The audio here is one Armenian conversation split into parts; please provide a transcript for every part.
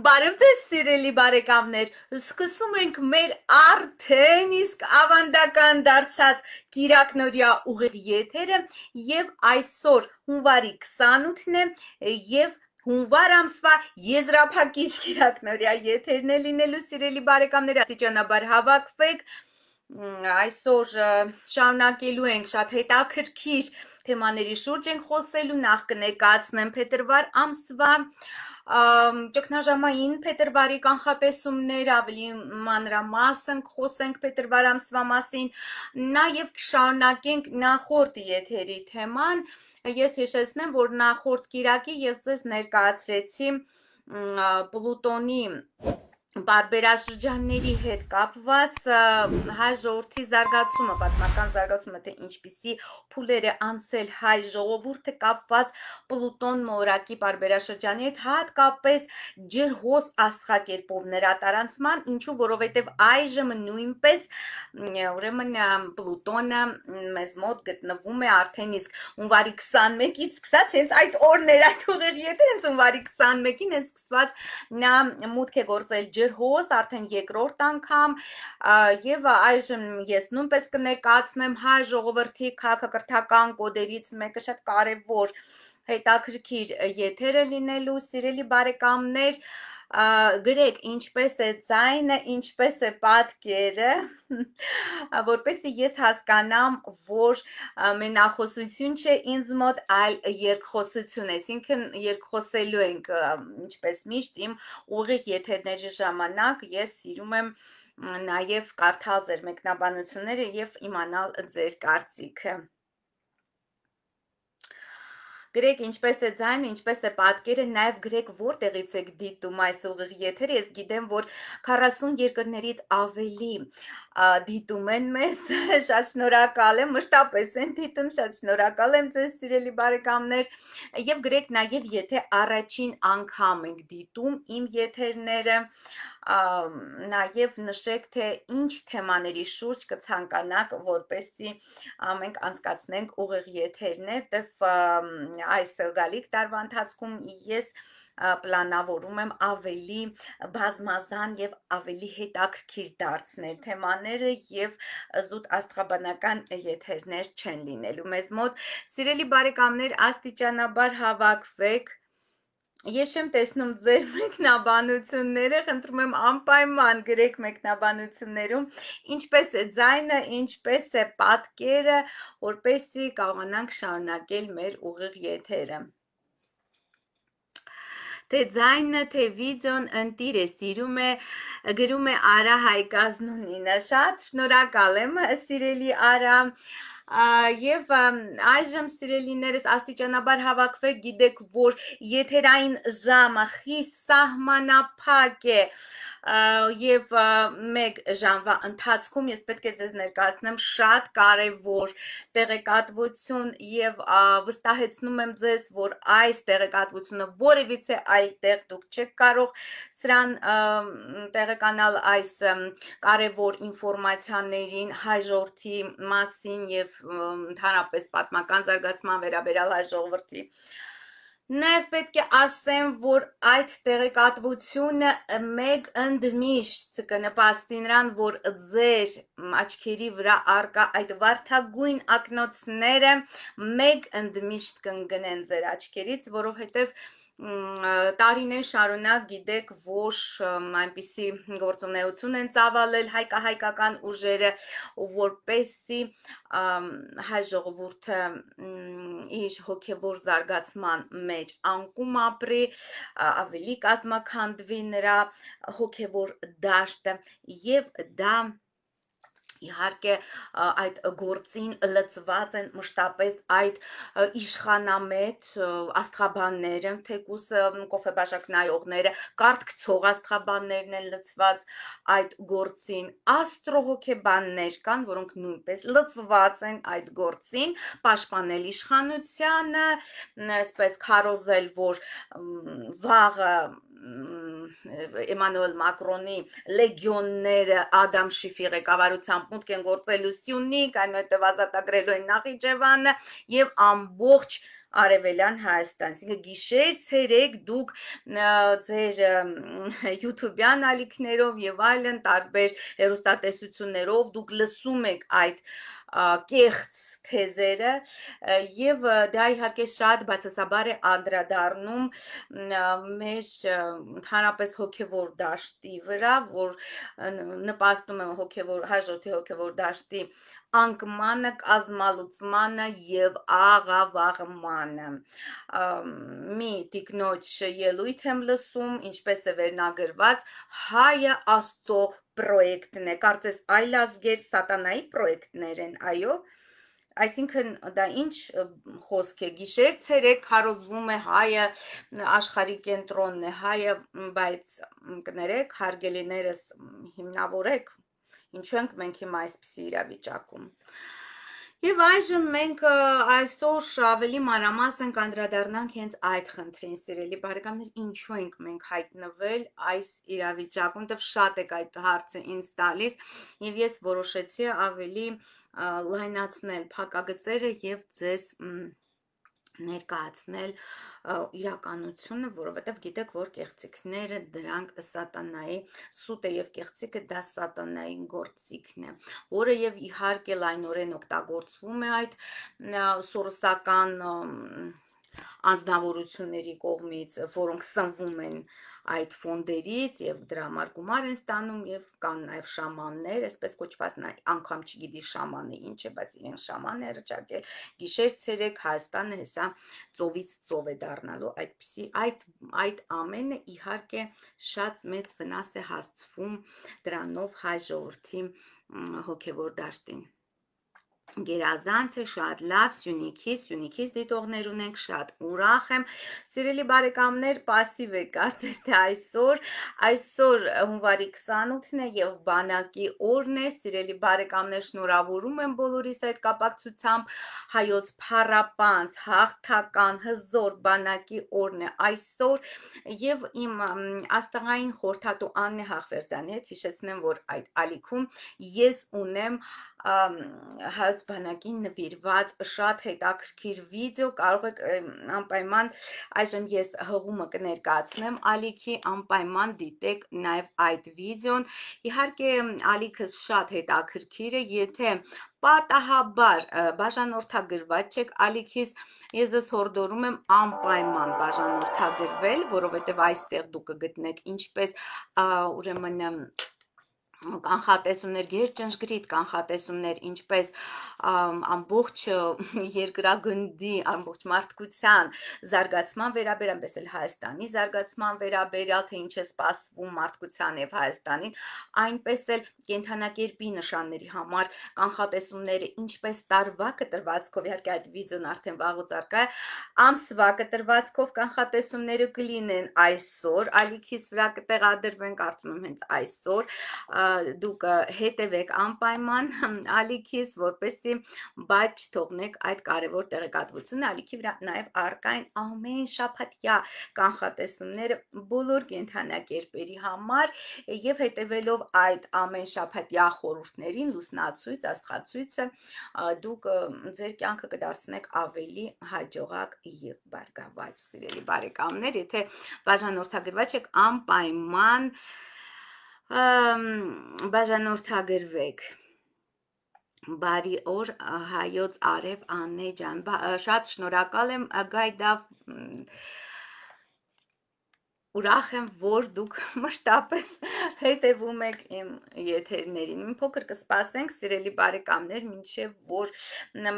Բարև ձեզ սիրելի բարեկամներ, սկսում ենք մեր արդեն իսկ ավանդական դարձած կիրակնօրյա ուղիղ եթերը եւ այսօր հունվարի 28-ն է եւ հունվար ամսվա եզրափակիչ կիրակնօրյա եթերն է լինելու սիրելի բարեկամներ, աստիճանաբար հավաքվեք, այսօր շարունակելու ենք շատ հետաքրքիր թեմաների շուրջ ենք խոսելու, նախ կներկայացնեմ փետրվար ամսվա ճգնաժամային փետրվարի կանխատեսումներ, ավելի մանրամասն խոսենք փետրվար ամսվա մասին, նաև կշարունակենք նախորդ եթերի թեման, ես հիշեցնեմ, որ նախորդ կիրակի ես ձեզ ներկայացրեցի Պլուտոնի բարբերաշրջանների հետ կապված հայ ժողովրդի զարգացումը, պատմական զարգացումը, թե ինչպիսի փուլեր է անցել հայ ժողովուրդը կապված Պլուտոն մորակի բարբերաշրջանի հետ, հատկապես ջրհոս աստղակերպով նրա տարանցման, ինչու որովհետև այժմ նույնպես ուրեմն Պլուտոնը մեզ մոտ գտնվում է արդեն իսկ հունվարի 21-ից սկսած, հենց այդ օրներ, այդ ուղիղ եթեր, հենց հունվարի 21-ին հենց սկսված նա մուտք է գործել ջրհոս, արդեն երկրորդ անգամ եւ այժմ ես նույնպես կներկայացնեմ հայ ժողովրդի քաղաքակրթական կոդերից մեկը շատ կարեւոր հետաքրքիր եթերը լինելու սիրելի բարեկամներ գրեք ինչպես է ձայնը, ինչպես է պատկերը, որպեսզի ես հասկանամ, որ մենախոսություն չէ ինձ մոտ, այլ երկխոսություն է, այսինքն երկխոսելու ենք, ինչպես միշտ իմ ուղիղ եթերների ժամանակ ես սիրում եմ նաև կարդալ ձեր մեկնաբանությունները եւ իմանալ ձեր կարծիքը։ Գրեք ինչպես է ձայնը, ինչպես է պատկերը, նաև գրեք որտեղից եք դիտում այս ուղիղ եթերը, ես գիտեմ, որ 40 երկրներից ավելի դիտում են մեզ, շատ շնորհակալ եմ, մշտապես են դիտում, շատ շնորհակալ եմ ձեզ սիրելի բարեկամներ, եւ գրեք նաև եթե առաջին անգամ եք դիտում իմ եթերները, նաև նշեք, թե ինչ թեմաների շուրջ կցանկանաք, որպեսզի մենք անցկացնենք ուղիղ եթերներ, դեպ այս գալիք տարվա ընթացքում ես պլանավորում եմ ավելի բազմազան եւ ավելի հետաքրքիր դարձնել թեմաները եւ զուտ աստղաբանական եթերներ չեն լինելու մեզ մոտ։ Սիրելի բարեկամներ, աստիճանաբար հավաքվեք։ Ես չեմ տեսնում ձեր մեկնաբանությունները, խնդրում եմ անպայման գրեք մեկնաբանություններում, ինչպես է ձայնը, ինչպես է պատկերը, որպեսզի կարողանանք շարունակել մեր ուղիղ եթերը։ Թե ձայնը, թե վիդեոն ընտիր է, սիրում է, գրում է Արա Հայկազնունինը, շատ շնորհակալ եմ, սիրելի Արա, եւ այժմ սիրելիներս աստիճանաբար հավաքվեք, գիտեք, որ եթերային ժամը խիստ սահմանափակ է եւ մեկ ժամվա ընթացքում ես պետք է ձեզ ներկայացնեմ շատ կարեւոր տեղեկատվություն եւ վստահեցնում եմ ձեզ, որ այս տեղեկատվությունը որևիցե այլ տեղ դուք չեք կարող սրան տեղեկանալ այս կարևոր ինֆորմացիաներին հայ ժողովրդի մասին եւ ընդհանրապես պատմական զարգացման վերաբերյալ հայ ժողովրդի Նաև պետք է ասեմ, որ այդ տեղեկատվությունը մեկ ընդմիշտ կնպաստի նրան, որ ձեր աչքերի վրա առկա այդ վարդագույն ակնոցները մեկ ընդմիշտ կընկնեն ձեր աչքերից, որովհետև տարիներ շարունակ գիտեք, որ այնպիսի գործունեություն են ծավալել հայկական ուժերը, որպեսզի հայ ժողովուրդը իր հոգևոր զարգացման մեջ անկում ապրի, ավելի կազմաքանդվի նրա հոգևոր դաշտը եւ դա Իհարկե այդ գործին լծված են մշտապես այդ իշխանամետ աստղաբանները, թեկուս կոֆեբաշակ նայողները, կարդքցող աստղաբաններն են լծված այդ գործին, աստրոհոգեբաններ կան, որոնք նույնպես լծված են այդ գործին, պաշտպանել իշխանությանը, այսպես քարոզել, որ վաղը Էմանուել Մակրոնի լեգիոնները Ադամ Շիֆի ղեկավարությամբ մուտք են գործելու Սյունիք, այնուհետև ազատագրելու են Նախիջևանը եւ ամբողջ Արևելյան Հայաստան, այսինքն գիշեր, ցերեկ դուք ձեր YouTube-յան ալիքներով եւ այլն տարբեր հեռուստատեսություններով դուք լսում եք այդ կեղծ թեզերը եւ դա իհարկե շատ բացասաբար է անդրադառնում մեր ընդհանրապես հոգեվոր դաշտի վրա, որ նպաստում է հոգեվոր հաջորդի հոգեվոր դաշտի անկմանը, կազմալուծմանը եւ աղավաղմանը։ Մի տիկնոջ ելույթ եմ լսում, ինչպես է վերնագրված հայը Աստծո պրոյեկտն է, կարծես այլազգեր սատանայի պրոյեկտներ են, այո։ Այսինքն դա ինչ խոսք է, գիշեր ցերեկ քարոզվում է հայը աշխարհի կենտրոնն է, հայը, բայց կներեք, հարգելիներս հիմնավորեք, ինչու ենք մենք հիմա այսպիսի իրավիճակում։ Եվ այժմ մենք այսօր ավելի մանրամասն կանդրադառնանք հենց այդ խնդրին, սիրելի բարեկամներ, ինչու ենք մենք հայտնվել այս իրավիճակում, դեռ շատ եք այդ հարցը ինձ տալիս, եւ ես որոշեցի ավելի լայնացնել փակագծերը եւ ձեզ ներկայացնել իրականությունը, որովհետև գիտեք, որ կեղծիքները դրանք սատանայի սուտը եւ կեղծիկը դա սատանայի գործիքն է, որը եւ իհարկե լայնորեն օգտագործվում է այդ սորոսական անձնավորությունների կողմից, որոնք սնվում են այդ ֆոնդերից եւ դրա համար գումար են ստանում եւ կան նաեւ շամաններ, այսպես կոչված անգամ չգիտի շամանը ինչ է, բայց իրեն շաման է ռճակել, գիշեր ցերեկ Հայաստանը հեսա ծովից ծով է դառնալու, այդպիսի այդ ամենը իհարկե շատ մեծ վնաս է հասցվում դրանով հայ ժողովրդի հոգեվոր դաշտին։ Գերազանց է, շատ լավ, Սյունիքից դիտողներ ունենք, շատ ուրախ եմ, սիրելի բարեկամներ, պասիվ եք, կարծես թե այսօր հունվարի 28-ն է եւ բանակի օրն է, սիրելի բարեկամներ, շնորհավորում եմ բոլորիս այդ կապակցությամբ, հայոց փառապանծ, հաղթական, հզոր բանակի օրն է այսօր եւ իմ աստղային խորհրդատու Աննե Հախվերդյանի հետ հիշեցնեմ, որ այդ ալիքում ես ունեմ հայոց բանակին նվիրված շատ հետաքրքիր վիդեո, կարող եք անպայման այժմ ես հղումը կներկայացնեմ ալիքի, անպայման դիտեք նաև այդ վիդեոն, իհարկե ալիքս շատ հետաքրքիր է, եթե պատահաբար բաժանորդագրված չեք ալիքիս, ես ձեզ հորդորում եմ անպայման բաժանորդագրվել, որովհետև այստեղ դուք կգտնեք ինչպես ուրեմն կանխատեսումներ, գերճնշգրիտ կանխատեսումներ, ինչպես ամբողջ երկրագնդի, ամբողջ մարդկության զարգացման վերաբերյալ, այնպես էլ Հայաստանի զարգացման վերաբերյալ, թե ինչ է սպասվում մարդկության եւ Հայաստանին, այնպես էլ կենթանակերպի նշանների համար կանխատեսումները, ինչպես տարվա կտրվածքով, իհարկե այդ վիդեոն արդեն վաղուց առկա է, ամսվա կտրվածքով կանխատեսումները կլինեն այսօր, ալիքիս վրա կտեղադրվեն, կարծում եմ հենց այսօր, դուք հետևեք անպայման ալիքիս, որպեսզի բաց չթողնեք այդ կարևոր տեղեկատվությունը, ալիքի վրա նաև առկա են ամեն շաբաթյա կանխատեսումները բոլոր կենդանակերպերի համար եւ հետևելով այդ ամեն շաբաթյա խորհուրդներին, լուսնացույց, աստղացույցը, դուք ձեր կյանքը կդարձնեք ավելի հաջողակ եւ բարգավաճ, սիրելի բարեկամներ, եթե բաժանորդագրված եք, անպայման բաժանորդագրվեք, բարի օր հայոց արև Աննե ջան, շատ շնորհակալ եմ գայդավ, ուրախ եմ, որ դուք մշտապես հետևում եք իմ եթերներին, մի փոքր կսպասենք սիրելի բարեկամներ, մինչև որ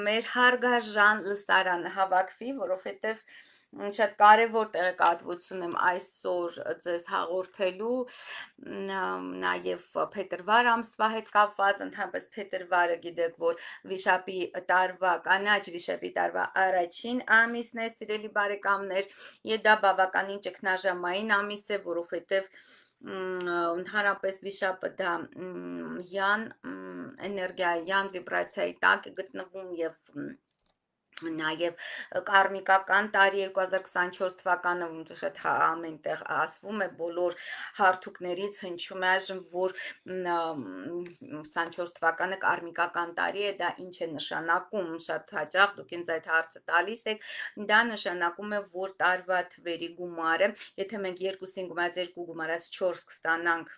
մեր հարգարժան լսարանը հավաքվի, որովհետև շատ կարևոր տեղեկատվություն եմ այսօր ձեզ հաղորդելու, նաև փետրվար ամսվա հետ կապված, ընդհանրապես փետրվարը գիտեք, որ վիշապի տարվա, կանաչ վիշապի տարվա առաջին ամիսն է, սիրելի բարեկամներ, եւ դա բավականին ճգնաժամային ամիս է, որովհետեւ ընդհանրապես վիշապը դա յան էներգիա, յան վիբրացիայի տակ է գտնվում եւ Նաև կարմիկական տարի 2024 թվականը շատ ամենտեղ ասվում է բոլոր հարթուկներից հնչում է այժմ, որ 24 թվականը կարմիկական տարի է, դա ինչ է նշանակում, շատ հաճախ դուք ինձ այդ հարցը տալիս եք, դա նշանակում է, որ տարվա թվերի գումարը, եթե մենք 2-ին գումարած 2 գումարած 4 կստանանք,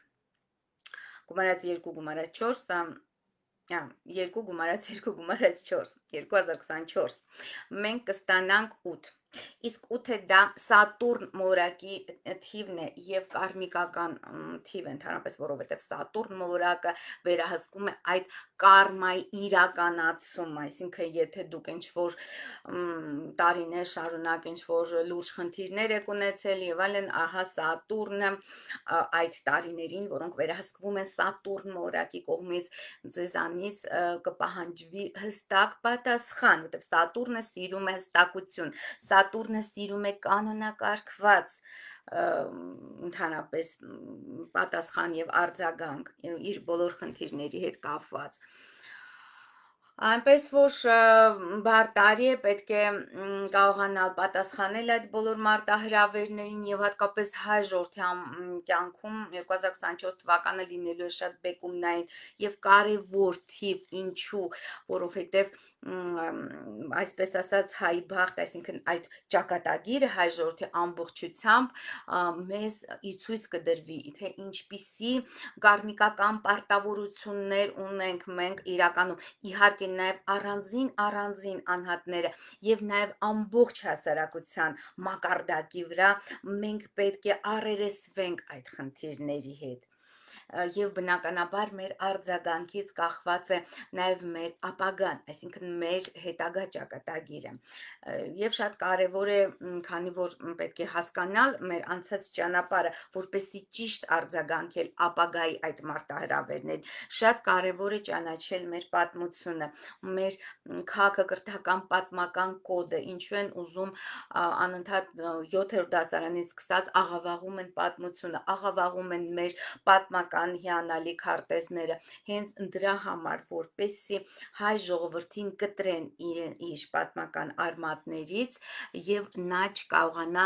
գումարած 2 գումարած 4, 2 գումարած 2 գումարած 4, 2024, մենք կստանանք 8, իսկ 8-ը դա Սատուրն մոլորակի թիվն է և կարմիկական թիվ ընդհանրապես, որովհետև Սատուրն մոլորակը վերահսկում է այդ կարմայի իրականացում, այսինքն եթե դուք ինչ-որ տարիներ շարունակ ինչ-որ լուրջ խնդիրներ եք ունեցել և այլն, ահա Սատուրնը այդ տարիներին, որոնք վերահսկվում են Սատուրն մոլորակի կողմից, ձեզանից կպահանջվի հստակ պատասխան, որտեղ Սատուրնը սիրում է հստակություն, Սատուրնը սիրում է կանոնակարգված ընդհանրապես պատասխան և արձագանք իր բոլոր խնդիրների հետ կապված։ Այնպես որ բարդ տարի է, պետք է կարողանալ պատասխանել այդ բոլոր մարտահրավերներին և հատկապես հայ ժողովրդի կյանքում 2024 թվականը լինելու է շատ բեկումնային և կարևոր թիվ, ինչու, որովհետև այսպես ասած հայ բախտ, այսինքն այդ ճակատագիրը հայ ժողովրդի ամբողջությամբ մեզ ի ցույց կդրվի, թե ինչպիսի կարմիկական պարտավորություններ ունենք մենք իրականում, իհարկե նաև առանձին անհատները և նաև ամբողջ հասարակության մակարդակի վրա մենք պետք է առերեսվենք այդ խնդիրների հետ և բնականաբար մեր արձագանքից կախված է նաև մեր ապագան, այսինքն մեր հետագա ճակատագիրը և շատ կարևոր է, քանի որ պետք է հասկանալ մեր անցած ճանապարհը, որպեսզի ճիշտ արձագանքել ապագայի այդ մարտահրավերներին, շատ կարևոր է ճանաչել մեր պատմությունը, մեր քաղաքակրթական պատմական կոդը, ինչու են ուզում անընդհատ 7-րդ դասարանից սկսած աղավաղում են պատմությունը, աղավաղում են մեր պատմական հիանալի քարտեզները, հենց դրա համար, որպեսզի հայ ժողովրդին կտրեն իր պատմական արմատներից և նա չկարողանա,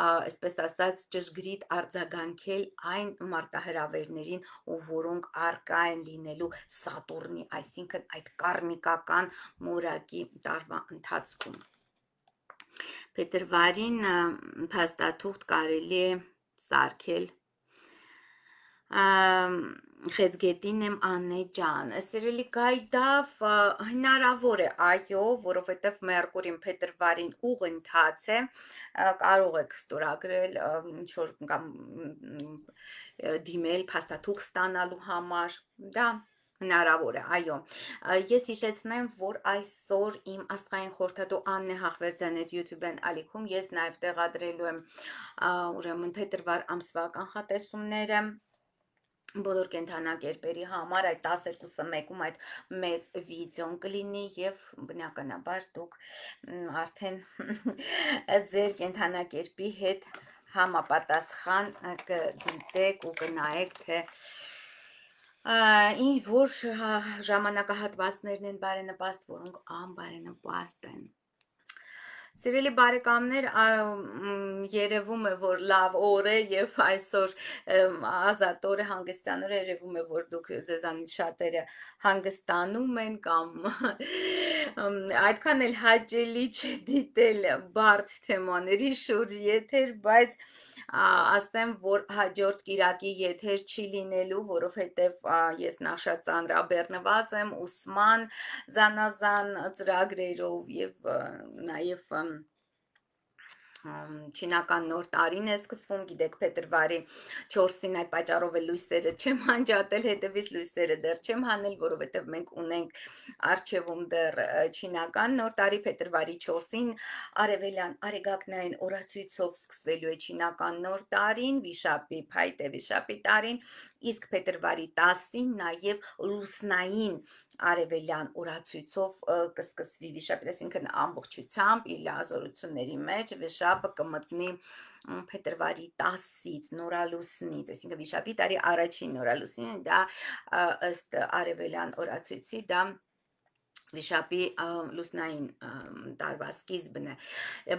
այսպես ասած, ճշգրիտ արձագանքել այն մարտահրավերներին, որոնք առկա են լինելու Սատուրնի, այսինքն այդ կարմիկական մոլորակի տարվա ընթացքում։ Փետրվարին փաստաթուղթ կարելի է սարքել Խեցգետին եմ Աննե ջան, սիրելի Գայդավ, հնարավոր է, այո, որովհետև Մերկուրին փետրվարին ուղընթաց է, կարող եք ստորագրել ինչ-որ կամ դիմել փաստաթուղթ ստանալու համար, դա հնարավոր է, այո, ես հիշեցնեմ, որ այսօր իմ աստղային խորհրդատու Աննե Հախվերդյանի YouTube-ն ալիքում ես նաև տեղադրելու եմ ուրեմն փետրվար ամսվա կանխատեսումները բոլոր կենդանակերպերի համար, այդ 12-ը մեկում այդ մեծ վիդեոն կլինի և բնականաբար դուք արդեն ձեր կենդանակերպի հետ համապատասխան կդիտեք ու կնայեք, թե ինչ որ ժամանակահատվածներն են բարենպաստ, որոնք անբարենպաստ են։ Սիրելի բարեկամներ, երևում է, որ լավ օր է և այսօր ազատ օր է, հանգստյան օր է, երևում է, որ դուք ձեզանից շատերը հանգստանում են կամ այդքան էլ հաճելի չէ դիտել բարդ թեմաների շուրջ եթեր, բայց ասեմ, որ հաջորդ կիրակի եթեր չի լինելու, որովհետև ես նախ շատ ծանրաբեռնված եմ ուսման զանազան ծրագրերով և նաև չինական նոր տարին է սկսվում, գիտեք, փետրվարի 4-ին այդ պատճառով էլ լույսերը չեմ անջատել, հետևից լույսերը դեռ չեմ հանել, որովհետև մենք ունենք առջևում դեռ չինական նոր տարի, փետրվարի 4-ին արևելյան արեգակնային օրացույցով սկսվելու է չինական նոր տարին, վիշապի փայտե վիշապի տարին, իսկ փետրվարի 10-ին նաև լուսնային արևելյան օրացույցով կսկսվի վիշապի, այսինքն ամբողջությամբ իր լիազորությունների մեջ վիշապը կմտնի փետրվարի 10-ից նորալուսնից, այսինքն վիշապի տարի առաջին նորալուսինը դա ըստ արևելյան օրացույցի դա Վիշապի լուսնային տարվա սկիզբն է,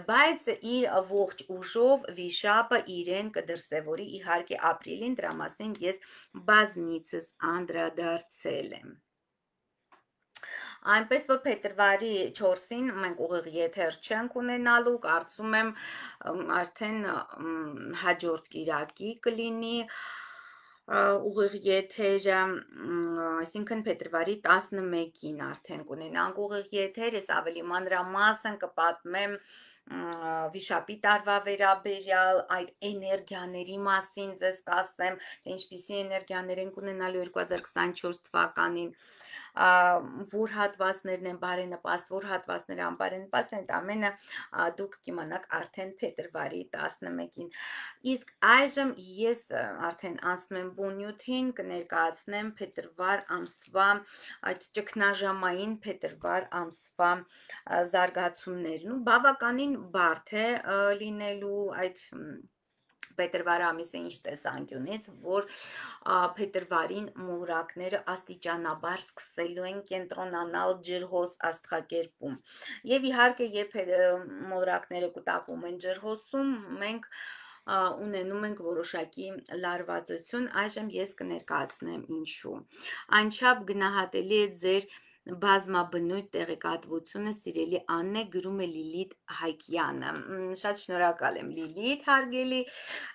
բայց իր ողջ ուժով վիշապը իրեն կդրսևորի իհարկե ապրիլին, դրա մասին ես բազմիցս անդրադարձել եմ։ Այնպես որ փետրվարի 4-ին մենք ուղիղ եթեր չենք ունենալու, կարծում եմ արդեն հաջորդ կիրակի կլինի ուղիղ եթերը, այսինքն փետրվարի 11-ին արդեն կունենանք ուղիղ եթեր, ես ավելի մանրամասն կպատմեմ վիշապի տարվա վերաբերյալ այդ էներգիաների մասին ձեզ կասեմ, թե ինչպիսի էներգիաներ են ունենալու 2024 թվականին, որ հատվածներն են բարենպաստ, որ հատվածները անբարենպաստ են, ամենը դուք կիմանաք արդեն փետրվարի 11-ին։ Իսկ այժմ ես արդեն անցնում եմ բունյութին, կներկայացնեմ փետրվար ամսվա այդ ճգնաժամային փետրվար ամսվա զարգացումներն ու բավականին բարդ է լինելու այդ փետրվար ամիսը ինչ տեսանկյունից, որ փետրվարին մոլորակները աստիճանաբար սկսելու են կենտրոնանալ ջրհոս աստղակերպում։ Եվ իհարկե, երբ մոլորակները կուտակվում են ջրհոսում, մենք ունենում ենք որոշակի լարվածություն, այժմ ես կներկայացնեմ ինչու։ Անչափ գնահատելի է ձեր բազմաբնույթ տեղեկատվությունը, սիրելի Աննե, գրում է Լիլիթ Հայկյանը։ Շատ շնորհակալ եմ Լիլիթ, հարգելի,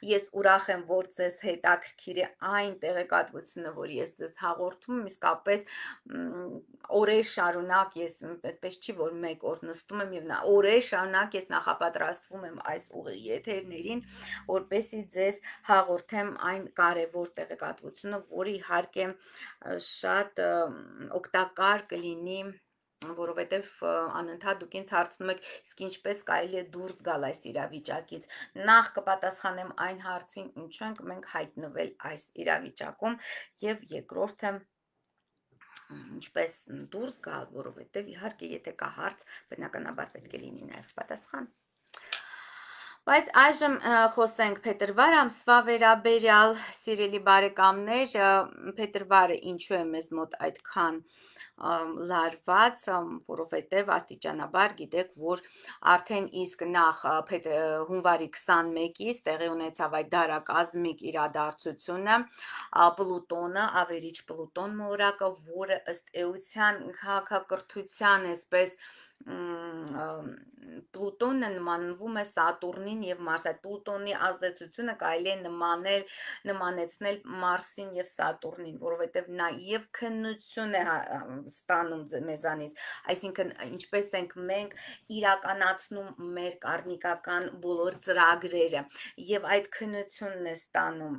ես ուրախ եմ, որ ձեզ հետաքրքիր է այն տեղեկատվությունը, որ ես ձեզ հաղորդում եմ, իսկապես օրեր շարունակ ես, այդպես չի, որ մեկ օր նստում եմ եւ օրեր շարունակ ես նախապատրաստվում եմ այս ուղիղ եթերներին, որպեսզի ձեզ հաղորդեմ այն կարևոր տեղեկատվությունը, որը իհարկե շատ օգտակար կլինի, որովհետև անընդհատ դուք ինձ հարցնում եք, իսկ ինչպես կարելի է դուրս գալ այս իրավիճակից։ Նախ կպատասխանեմ այն հարցին, ինչու ենք մենք հայտնվել այս իրավիճակում, եւ երկրորդը ինչպես դուրս գալ, որովհետև իհարկե եթե կա հարց, բնականաբար պետք է լինի նաև պատասխան։ Բայց այժմ խոսենք փետրվար ամսվա վերաբերյալ, սիրելի բարեկամներ, փետրվարը ինչու է մեզ մոտ այդքան լարված, որովհետև աստիճանաբար գիտեք, որ արդեն իսկ նախ հունվարի 21-ից տեղի ունեցավ այդ դարակազմիկ իրադարձությունը, Պլուտոնը, ավերիչ Պլուտոն մոլորակը, որը ըստ էության քաղաքակրթության այսպես Պլուտոնը նմանվում է Սատուրնին եւ Մարսին, այդ Պլուտոնի ազդեցությունը կարելի է նմանեցնել Մարսին եւ Սատուրնին, որովհետեւ նա եւ քննություն է ստանում մեզանից, այսինքն ինչպես ենք մենք իրականացնում մեր կարմիկական բոլոր ծրագրերը եւ այդ քննությունն է ստանում,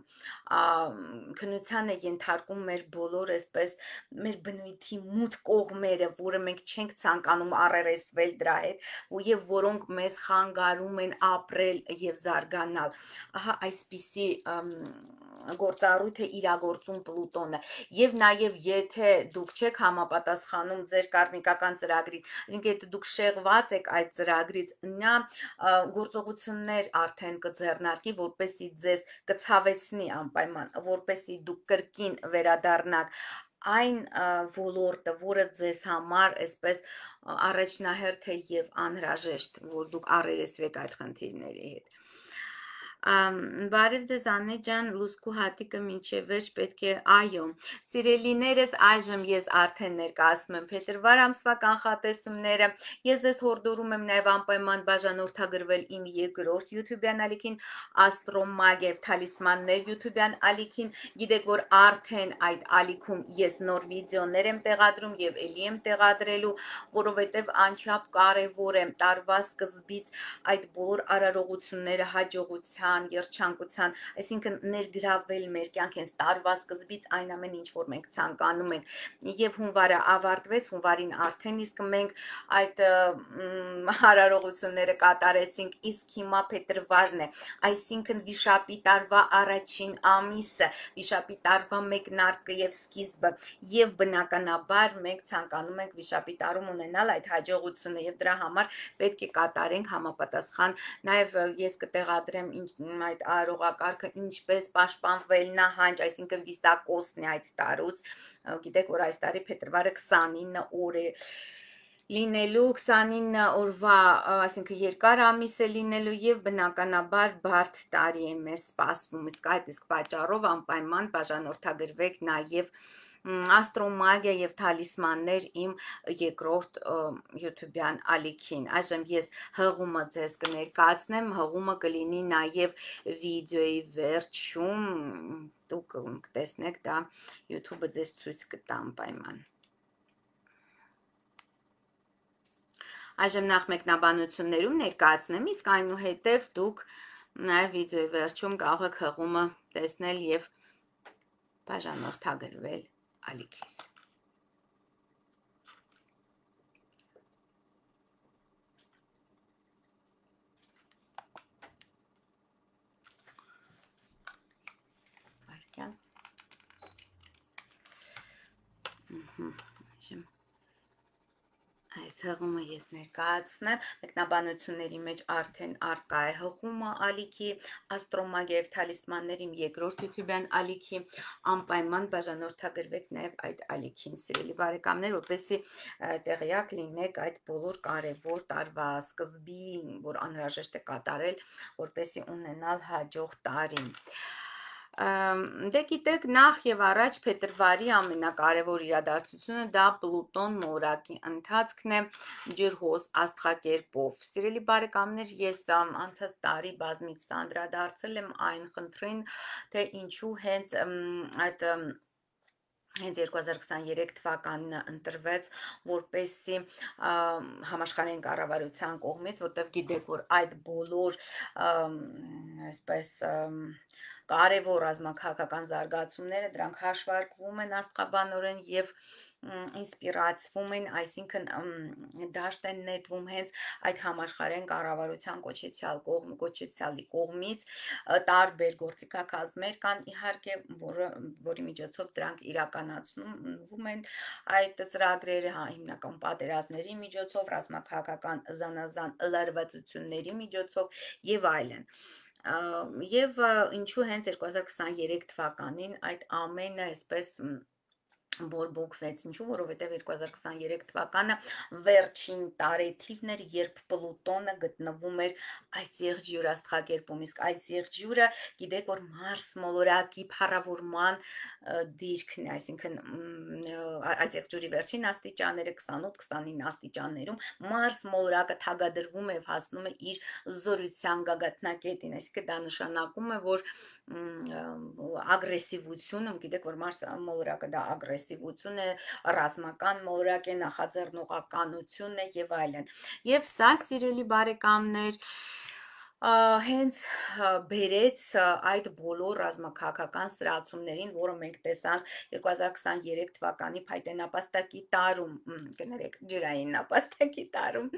քննության է ենթարկում մեր բոլոր այսպես մեր բնույթի մութ կողմերը, որը մենք չենք ցանկանում առերեսվել դրա հետ, եւ որոնք մեզ խանգարում են ապրել եւ զարգանալ։ Ահա այսպիսի գործառույթ է իրագործում Պլուտոնը եւ նաեւ եթե դուք չեք համապատասխանում ձեր կարմիկական ծրագրին, այսինքն եթե դուք շեղված եք այդ ծրագրից, նա գործողություններ արդեն կձեռնարկի, որպեսզի ձեզ կցավեցնի անպայման, որպեսզի դուք կրկին վերադառնաք այն ոլորտը, որը ձեզ համար այսպես առաջնահերթ է եւ անհրաժեշտ, որ դուք առերեսվեք այդ խնդիրների հետ։ Բարև ձեզ Աննե ջան, լուսկու հատիկը մինչև վերջ պետք է, այո, սիրելիներս, այժմ ես արդեն ներկայացնում եմ փետրվար ամսվա կանխատեսումները, ես ձեզ հորդորում եմ նաև անպայման բաժանորդագրվել իմ երկրորդ YouTube-յան ալիքին, Աստրոմագիա եւ Թալիսմաններ YouTube-յան ալիքին, գիտեք, որ արդեն այդ ալիքում ես նոր վիդեոներ եմ տեղադրում եւ ելի եմ տեղադրելու, որովհետեւ անչափ կարեւոր է տարվա սկզբից այդ բոլոր արարողությունները հաջողության երջանկության, այսինքն ներգրավել մեր կյանք հենց տարվա սկզբից այն ամեն ինչ, որ մենք ցանկանում ենք, եւ հունվարը ավարտվեց, հունվարին արդեն իսկ մենք այդ հարարողությունները կատարեցինք, իսկ հիմա փետրվարն է, այսինքն վիշապի տարվա առաջին ամիսը, վիշապի տարվա մեկնարկը եւ սկիզբը, եւ բնականաբար մենք ցանկանում ենք վիշապի տարում ունենալ այդ հաջողությունը եւ դրա համար պետք է կատարենք համապատասխան, նաեւ ես կտեղադրեմ այդ արարողակարգը ինչպես պաշտպանվել նահանջ, այսինքն վիսակոսն է այդ տարուց, գիտեք, որ այս տարի փետրվարը 29 օր է, լինելու 29 օրվա, այսինքն երկար ամիս է լինելու եւ բնականաբար բարդ տարի է մեզ սպասվում, իսկ պատճառով անպայման բաժանորդագրվեք նաեւ աստրոմագիա եւ թալիսմաններ իմ երկրորդ YouTube-յան ալիքին։ Այժմ ես հղումը ձեզ կներկայացնեմ, հղումը կլինի նաեւ վիդեոյի վերջում, դուք կտեսնեք դա YouTube-ը ձեզ ցույց կտա անպայման։ Այժմ նախ մեկնաբանություններում ներկայացնեմ, իսկ այնուհետև դուք նաև վիդեոյի վերջում կարող եք հղումը տեսնել եւ բաժանորդագրվել ալիքիս։ Այժմ այս հղումը ես ներկայացնեմ, մեկնաբանությունների մեջ արդեն արկա է հղումը ալիքի, աստրոմագիա եւ թալիսմաններ իմ երկրորդ YouTube-յան ալիքի, անպայման բաժանորդագրվեք նաեւ այդ ալիքին, սիրելի բարեկամներ, որպեսզի տեղյակ լինեք այդ բոլոր կարևոր տարվա սկզբին, որ անհրաժեշտ է կատարել, որպեսզի ունենալ հաջող տարին։ Դե գիտեք, նախ եւ առաջ փետրվարի ամենակարևոր իրադարձությունը դա Պլուտոն մորակի ընթացքն է ջրհոս աստղակերպով։ Սիրելի բարեկամներ, ես անցած տարի բազմից անդրադարձել եմ այն խնդրին, թե ինչու հենց այդ Հենց 2023 թվականին ընտրվեց որպեսզի համաշխարհային կառավարության կողմից, որտեղ գիտեք, որ այդ բոլոր այսպես կարևոր ռազմաքաղաքական զարգացումները դրանք հաշվարկվում են աստղաբանորեն եւ ինսպիրացվում են, այսինքն դաշտ են նետվում հենց այդ համաշխարհային կառավարության կոչեցյալի կողմից տարբեր գործիքակազմեր կան իհարկե, որի միջոցով դրանք իրականացվում են այդ ծրագրերը, հիմնական պատերազմների միջոցով, ռազմաքաղաքական զանազան լարվածությունների միջոցով եւ այլն։ Եվ ինչու հենց 2023 թվականին այդ ամենը այսպես բորբոքվեց, ինչու, որովհետև 2023 թվականը վերջին տարեթիվն էր, երբ Պլուտոնը գտնվում էր այդ եղջյուր աստղակերպում, իսկ այդ եղջյուրը գիտեք, որ Մարս մոլորակի փառավորման դիրքն է, այսինքն այդ եղջյուրի վերջին աստիճանները 28-29 աստիճաններում Մարս մոլորակը թագադրվում է եւ հասնում է իր զորության գագաթնակետին, այսինքն դա նշանակում է, որ ագրեսիվությունը, գիտեք, որ Մարս մոլորակը դա ագրեսիվություն է, ռազմական մոլորակ է, նախաձեռնողականություն է եւ այլն։ Եվ սա, սիրելի բարեկամներ, հենց բերեց այդ բոլոր ռազմաքաղաքական սրացումներին, որը մենք տեսանք 2023 թվականի փայտենապաստակի տարում, կներեք, ջրային նապաստակի տարում,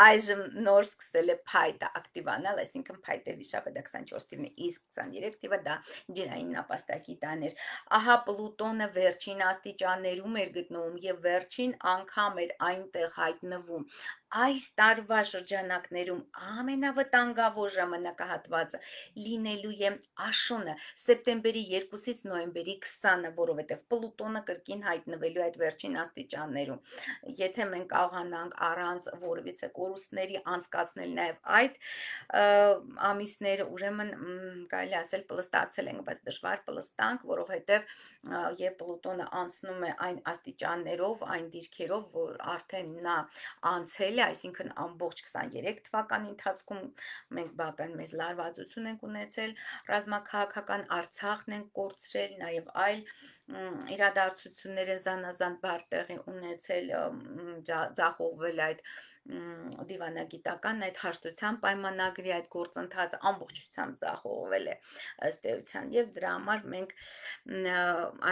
այժմ նոր սկսել է փայտը ակտիվանալ, այսինքն փայտե վիշապը դա 24 թիվն է, իսկ 23 թիվը դա ջրային նապաստակի տան էր։ Ահա Պլուտոնը վերջին աստիճաններում էր գտնվում եւ վերջին անգամ էր այնտեղ հայտնվում։ Այս տարվա շրջանակներում ամենավտանգավոր ժամանակահատվածը լինելու է աշունը սեպտեմբերի 2-ից նոյեմբերի 20-ը, որովհետև Պլուտոնը կրկին հայտնվելու այդ վերջին աստիճաններում։ Եթե մենք կարողանանք առանց որևիցե կորուստների անցկացնել նաև այդ ամիսները, ուրեմն կարելի ասել պլստացել ենք, բայց դժվար պլստանք, որովհետև երբ Պլուտոնը անցնում է այն աստիճաններով, այն դիրքերով, որ արդեն նա անցել է, այսինքն ամբողջ 23 թվականի ընթացքում մենք բական մեծ լարվածություն ենք ունեցել, ռազմաքաղաքական Արցախն ենք կորցրել, նաև այլ իրադարձություններ են զանազան բար տեղի ունեցել, ձախողվել այդ դիվանագիտական այդ հաշտության պայմանագրի այդ գործընթացը ամբողջությամբ ձախողվել է ըստ էության եւ դրա համար մենք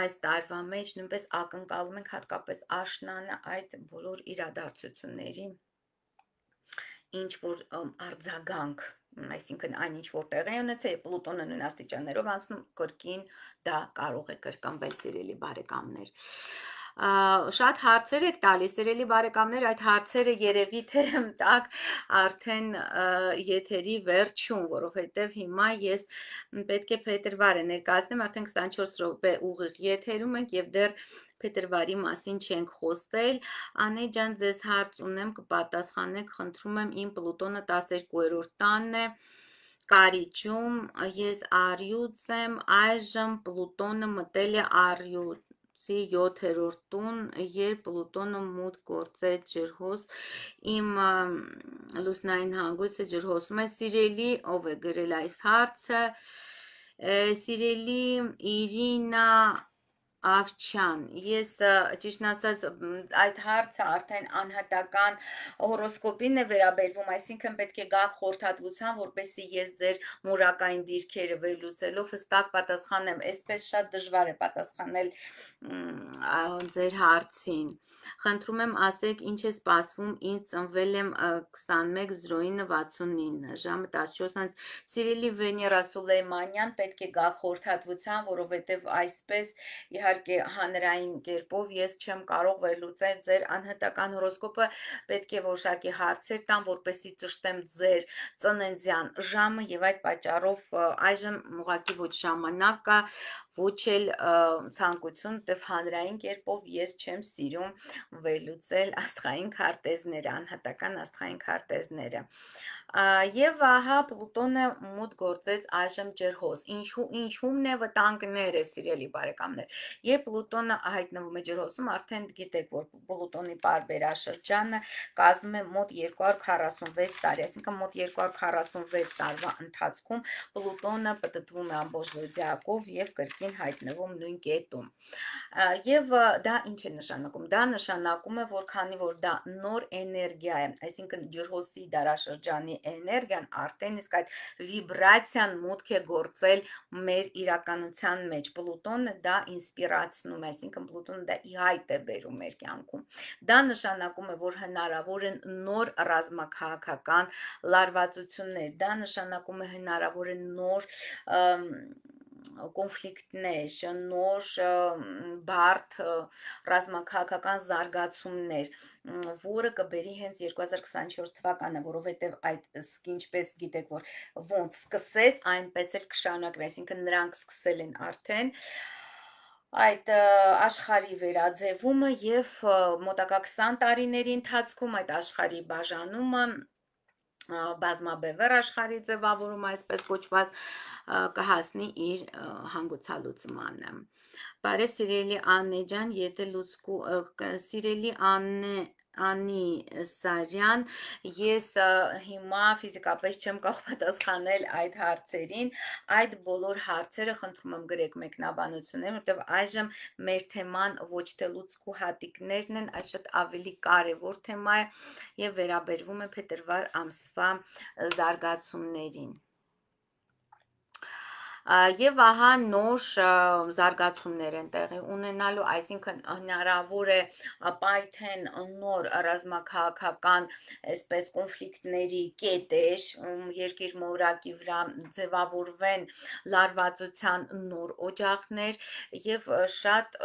այս տարվա մեջ նույնպես ակնկալում ենք հատկապես աշնանը այդ բոլոր իրադարձությունների ինչ որ արձագանք, այսինքն այն ինչ որ տեղի ունեցել, Պլուտոնը նույն աստիճաններով անցնում, կրկին դա կարող է կրկնվել, սիրելի բարեկամներ։ Շատ հարցեր եք տալիս, սիրելի բարեկամներ, այդ հարցերը երևի թե տակ արդեն եթերի վերջում, որովհետև հիմա ես պետք է փետրվարը ներկայացնեմ, արդեն 24 րոպե ուղիղ եթերում ենք եւ դեռ փետրվարի մասին չենք խոսել, Անե ջան, ձեզ հարց ունեմ, կպատասխանեք, խնդրում եմ, իմ Պլուտոնը 12-րդ տանն է, Կարիճում, ես Արյուծ եմ, այժմ Պլուտոնը մտել է Արյուծի 7-րդ տուն, երբ Պլուտոնը մուտք գործեց ջրհոս, իմ լուսնային հանգույցը ջրհոսում է, սիրելի, ով է գրել այս հարցը, սիրելի Իրինա Ավչյան, ես ճիշտն ասած այդ հարցը արդեն անհատական հորոսկոպին է վերաբերվում, այսինքն պետք է գաք խորհրդատվության, որպեսզի ես ձեր մուրակային դիրքերը վերլուծելով հստակ պատասխանեմ, այսպես շատ դժվար է պատասխանել ձեր հարցին։ Խնդրում եմ ասեք, ինչ է սպասվում, ինձ ծնվել եմ 21:09:69, ժամը 14:00, սիրելի Վեներա Սուլեյմանյան, պետք է գաք խորհրդատվության, որովհետև այսպես իհարկե հանրային կերպով ես չեմ կարող վերլուծել ձեր անհատական հորոսկոպը, պետք է որոշակի հարցեր տամ, որպեսզի ճշտեմ ձեր ծննդյան ժամը եւ այդ պատճառով այժմ ուղղակի ոչ ժամանակ կա, ոչ էլ ցանկություն, որտեվ հանրային կերպով ես չեմ սիրում վերլուծել աստղային քարտեզները, անհատական աստղային քարտեզները։ Եվ ահա Պլուտոնը մուտք գործեց այժմ ջրհոս։ Ինչումն է վտանգները, սիրելի բարեկամներ։ Երբ Պլուտոնը հայտնվում է ջրհոսում, արդեն գիտեք, որ Պլուտոնի պարբերաշրջանը կազմում է մոտ 246 տարի, այսինքն մոտ 246 տարվա ընթացքում Պլուտոնը պտտվում է ամբողջ զոդիակով եւ կրկին հայտնվում նույն կետում։ Եվ դա ինչ է նշանակում։ Դա նշանակում է, որ քանի որ դա նոր էներգիա է, այսինքն ջրհոսի դարաշրջանի էներգիան արդեն իսկ այդ վիբրացիան մուտք է գործել մեր իրականության մեջ։ Պլուտոնը դա ինսպիրացնում է, այսինքն Պլուտոնը դա ի հայտ է բերում մեր կյանքում։ Դա նշանակում է, որ հնարավոր են նոր ռազմաքաղաքական լարվածություններ, դա նշանակում է հնարավոր են նոր կոնֆլիկտներ, նոր բարդ ռազմաքաղաքական զարգացումներ, որը կբերի հենց 2024 թվականը, որովհետև այդ ինչպես գիտեք, որ ոնց սկսես, այնպես էլ կշարունակվի, այսինքն նրանք սկսել են արդեն այդ աշխարհի վերաձևումը եւ մոտակա 20 տարիների ընթացքում այդ աշխարհի բաժանումը բազմաբևեռ աշխարհի ձևավորումը, այսպես կոչված, կհասնի իր հանգուցալուծմանը։ Բարև սիրելի Աննե ջան, եթե լուցկու սիրելի Անի Սարյան, ես հիմա ֆիզիկապես չեմ կարող պատասխանել այդ հարցերին, այդ բոլոր հարցերը խնդրում եմ գրեք մեկնաբանություններ, որտեղ այժմ մեր թեման ոչ թե լուցկու հատիկներն են, այլ շատ ավելի կարևոր թեմա է եւ վերաբերվում է փետրվար ամսվա զարգացումներին։ Եվ ահա նոր զարգացումներ են տեղի ունենալու, այսինքն հնարավոր է պայթեն նոր ռազմաքաղաքական այսպես կոնֆլիկտների կետեր, երկիր մորակի վրա ձևավորվեն լարվածության նոր օջախներ եւ շատ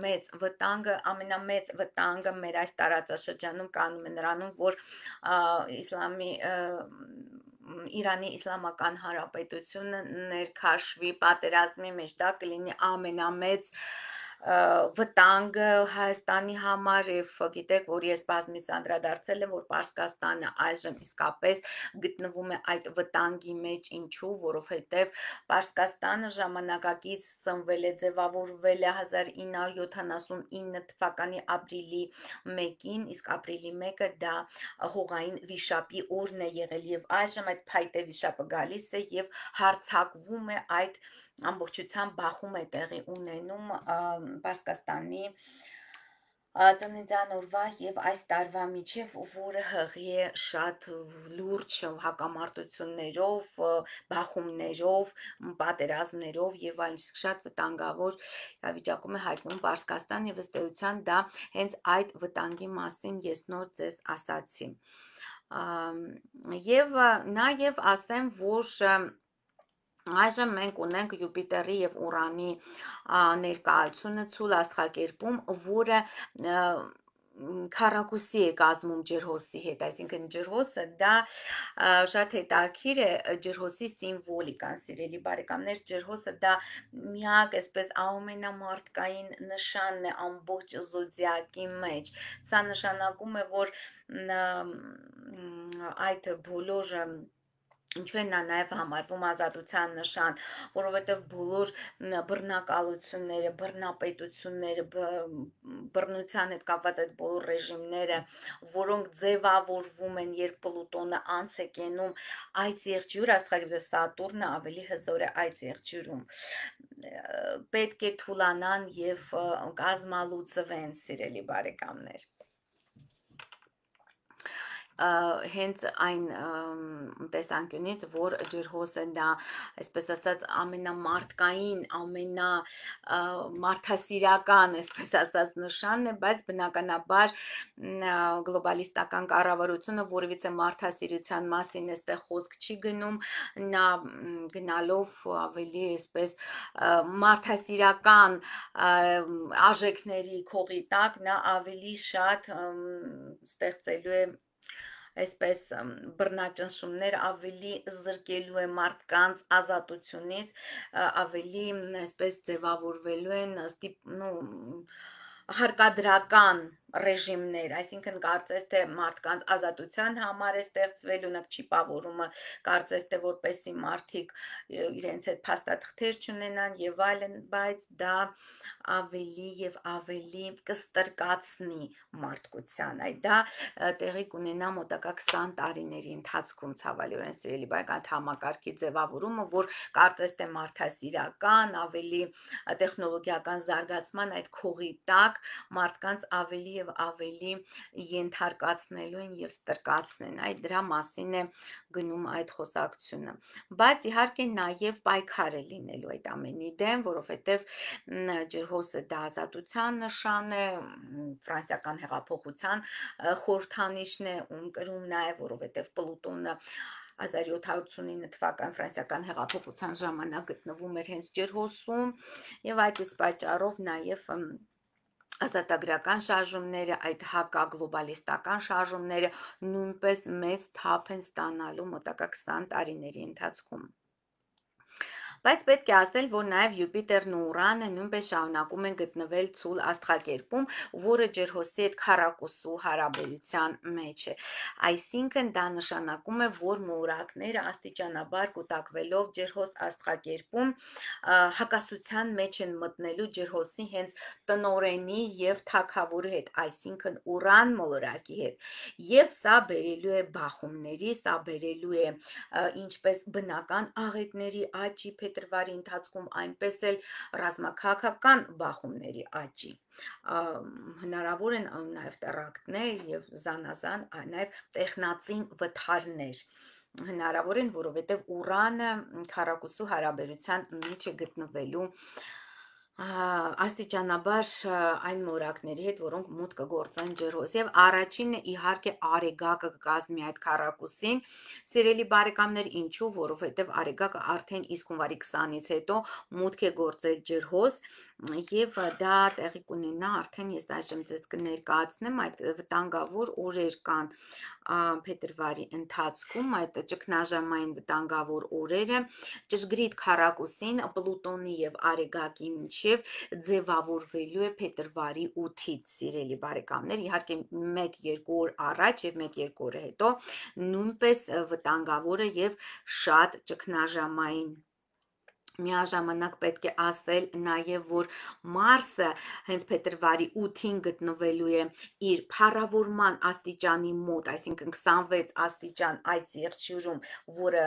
մեծ վտանգը, ամենամեծ վտանգը մեր այս տարածաշրջանում կանում է նրանում, որ Իրանի Իսլամական Հանրապետությունը ներքաշվի պատերազմի մեջ, դա կլինի ամենամեծ վտանգը Հայաստանի համար եւ գիտեք, որ ես բազմից անդրադարձել եմ, որ Պարսկաստանը այժմ իսկապես գտնվում է այդ վտանգի մեջ, ինչու, որովհետեւ Պարսկաստանը ժամանակակից ծնվել է, ձևավորվել է 1979 թվականի ապրիլի 1-ին, իսկ ապրիլի 1-ը դա հողային վիշապի օրն է եղել եւ այժմ այդ փայտե վիշապը գալիս է եւ հարձակվում է այդ ամբողջությամբ բախում է տեղի ունենում Պարսկաստանի ծննդյան օրվա եւ այս տարվա միջև, որը հղի է շատ լուրջ հակամարտություններով, բախումներով, պատերազմներով եւ այլն, շատ վտանգավոր վիճակում է հայտնվում Պարսկաստան եւ ըստ էության դա հենց այդ վտանգի մասին ես նոր ձեզ ասացի։ Եվ նաեւ ասեմ, որ այժմ մենք ունենք Յուպիտերի եւ Ուրանի ներկայությունը ցուլ աստղակերպում, որը քառակուսի է կազմում ջրհոսի հետ, այսինքն ջրհոսը դա շատ հետաքրքիր է ջրհոսի սիմվոլիկան, սիրելի բարեկամներ, ջրհոսը դա միակ այսպես ամենամարտկային նշանն է ամբողջ զոդիակի մեջ։ Սա նշանակում է, որ այդ բոլոր ինչու են նա նաև համարվում ազատության նշան, որովհետև բոլոր բռնակալությունները, բռնապետությունները, բռնության հետ կապված այդ բոլոր ռեժիմները, որոնք ձևավորվում են, երբ Պլուտոնը անց է կենում այդ եղջյուր, աստղագետը Սատուրնը ավելի հզոր է այդ եղջյուրում, պետք է թուլանան եւ կազմալուծվեն, սիրելի բարեկամներ։ Հենց այն տեսանկյունից, որ ջրհոսը դա, այսպես ասած, ամենամարտկային, ամենամարդասիրական, այսպես ասած, նշանն է, բայց բնականաբար գլոբալիստական կառավարությունը որևիցե մարդասիրության մասին այստեղ խոսք չի գնում, նա գնալով ավելի այսպես մարդասիրական արժեքների քողի տակ, նա ավելի շատ ստեղծելու է այսպես բռնաճնշումներ, ավելի զրկելու է մարդկանց ազատությունից, ավելի այսպես ձևավորվելու են հարկադրական ռեժիմներ, այսինքն կարծես թե մարդկանց ազատության համար է ստեղծվել, ունակ չիպավորումը, կարծես թե որպեսի մարդիկ իրենց հետ փաստաթղթեր չունենան եւ այլն, բայց դա ավելի եւ ավելի կստրկացնի մարդկության, այդ դա տեղի կունենա մոտակա 20 տարիների ընթացքում, ցավալիորեն սիրելի բարեկամ, այդ համակարգի ձևավորումը, որ կարծես թե մարդասիրական, ավելի տեխնոլոգիական զարգացման այդ քողի տակ մարդկանց ավելի եւ ավելի ենթարկացնելու են եւ ստրկացնեն, այդ դրա մասին է գնում այդ խոսակցությունը, բայց իհարկե նաեւ պայքար է լինելու այդ ամենի դեմ, որովհետեւ ջրհոսը դա ազատության նշան է, ֆրանսիական հեղափոխության խորհրդանիշն է, կրում նաեւ, որովհետեւ Պլուտոնը 1789 թվական ֆրանսիական հեղափոխության ժամանակ գտնվում էր հենց ջրհոսում եւ այդ իսկ պատճառով նաեւ ազատագրական շարժումները, այդ հակագլոբալիստական շարժումները նույնպես մեծ թափ են ստանալու մոտակա 20 տարիների ընթացքում։ Բայց պետք է ասել, որ նաև Յուպիտերն ու Ուրանը նույնպես շարունակում են գտնվել ցուլ աստղակերպում, որը ջրհոսի հետ քառակուսու հարաբերության մեջ է։ Այսինքն դա նշանակում է, որ մորակները աստիճանաբար կուտակվելով ջրհոս աստղակերպում հակասության մեջ են մտնելու ջրհոսի հենց տնորենի եւ թագավորի հետ, այսինքն Ուրան մոլորակի հետ։ Եվ սա բերելու է բախումների, սա բերելու է ինչպես բնական աղետների աճի փետրվարի ընթացքում, այնպես էլ ռազմաքաղաքական բախումների աճի։ Հնարավոր են նաև տերակտներ եւ զանազան նաև տեխնացին վթարներ հնարավոր են, որովհետև Ուրանը քառակուսու հարաբերության մեջ է գտնվելու աստիճանաբար այն մորակների հետ, որոնք մուտք կգործեն ջրհոս եւ առաջինը իհարկե Արեգակը կկազմի այդ քառակուսին, սիրելի բարեկամներ, ինչու, որովհետեւ Արեգակը արդեն իսկ հունվարի 20-ից հետո մուտք է գործել ջրհոս եւ դա տեղի կունենա արդեն ես այժմ ձեզ կներկայացնեմ այդ վտանգավոր օրեր կան փետրվարի ընթացքում այդ ճգնաժամային վտանգավոր օրերը ճշգրիտ քառակուսին Պլուտոնի եւ Արեգակի միջև ձևավորվելու է փետրվարի 8-ից սիրելի բարեկամներ իհարկե 1-2 օր առաջ եւ 1-2 օր հետո նույնպես վտանգավոր է եւ շատ ճգնաժամային Միաժամանակ պետք է ասել նաև, որ Մարսը հենց փետրվարի 8-ին գտնվելու է իր փառավորման աստիճանի մոտ, այսինքն 26 աստիճան այդ եղջյուրում, որը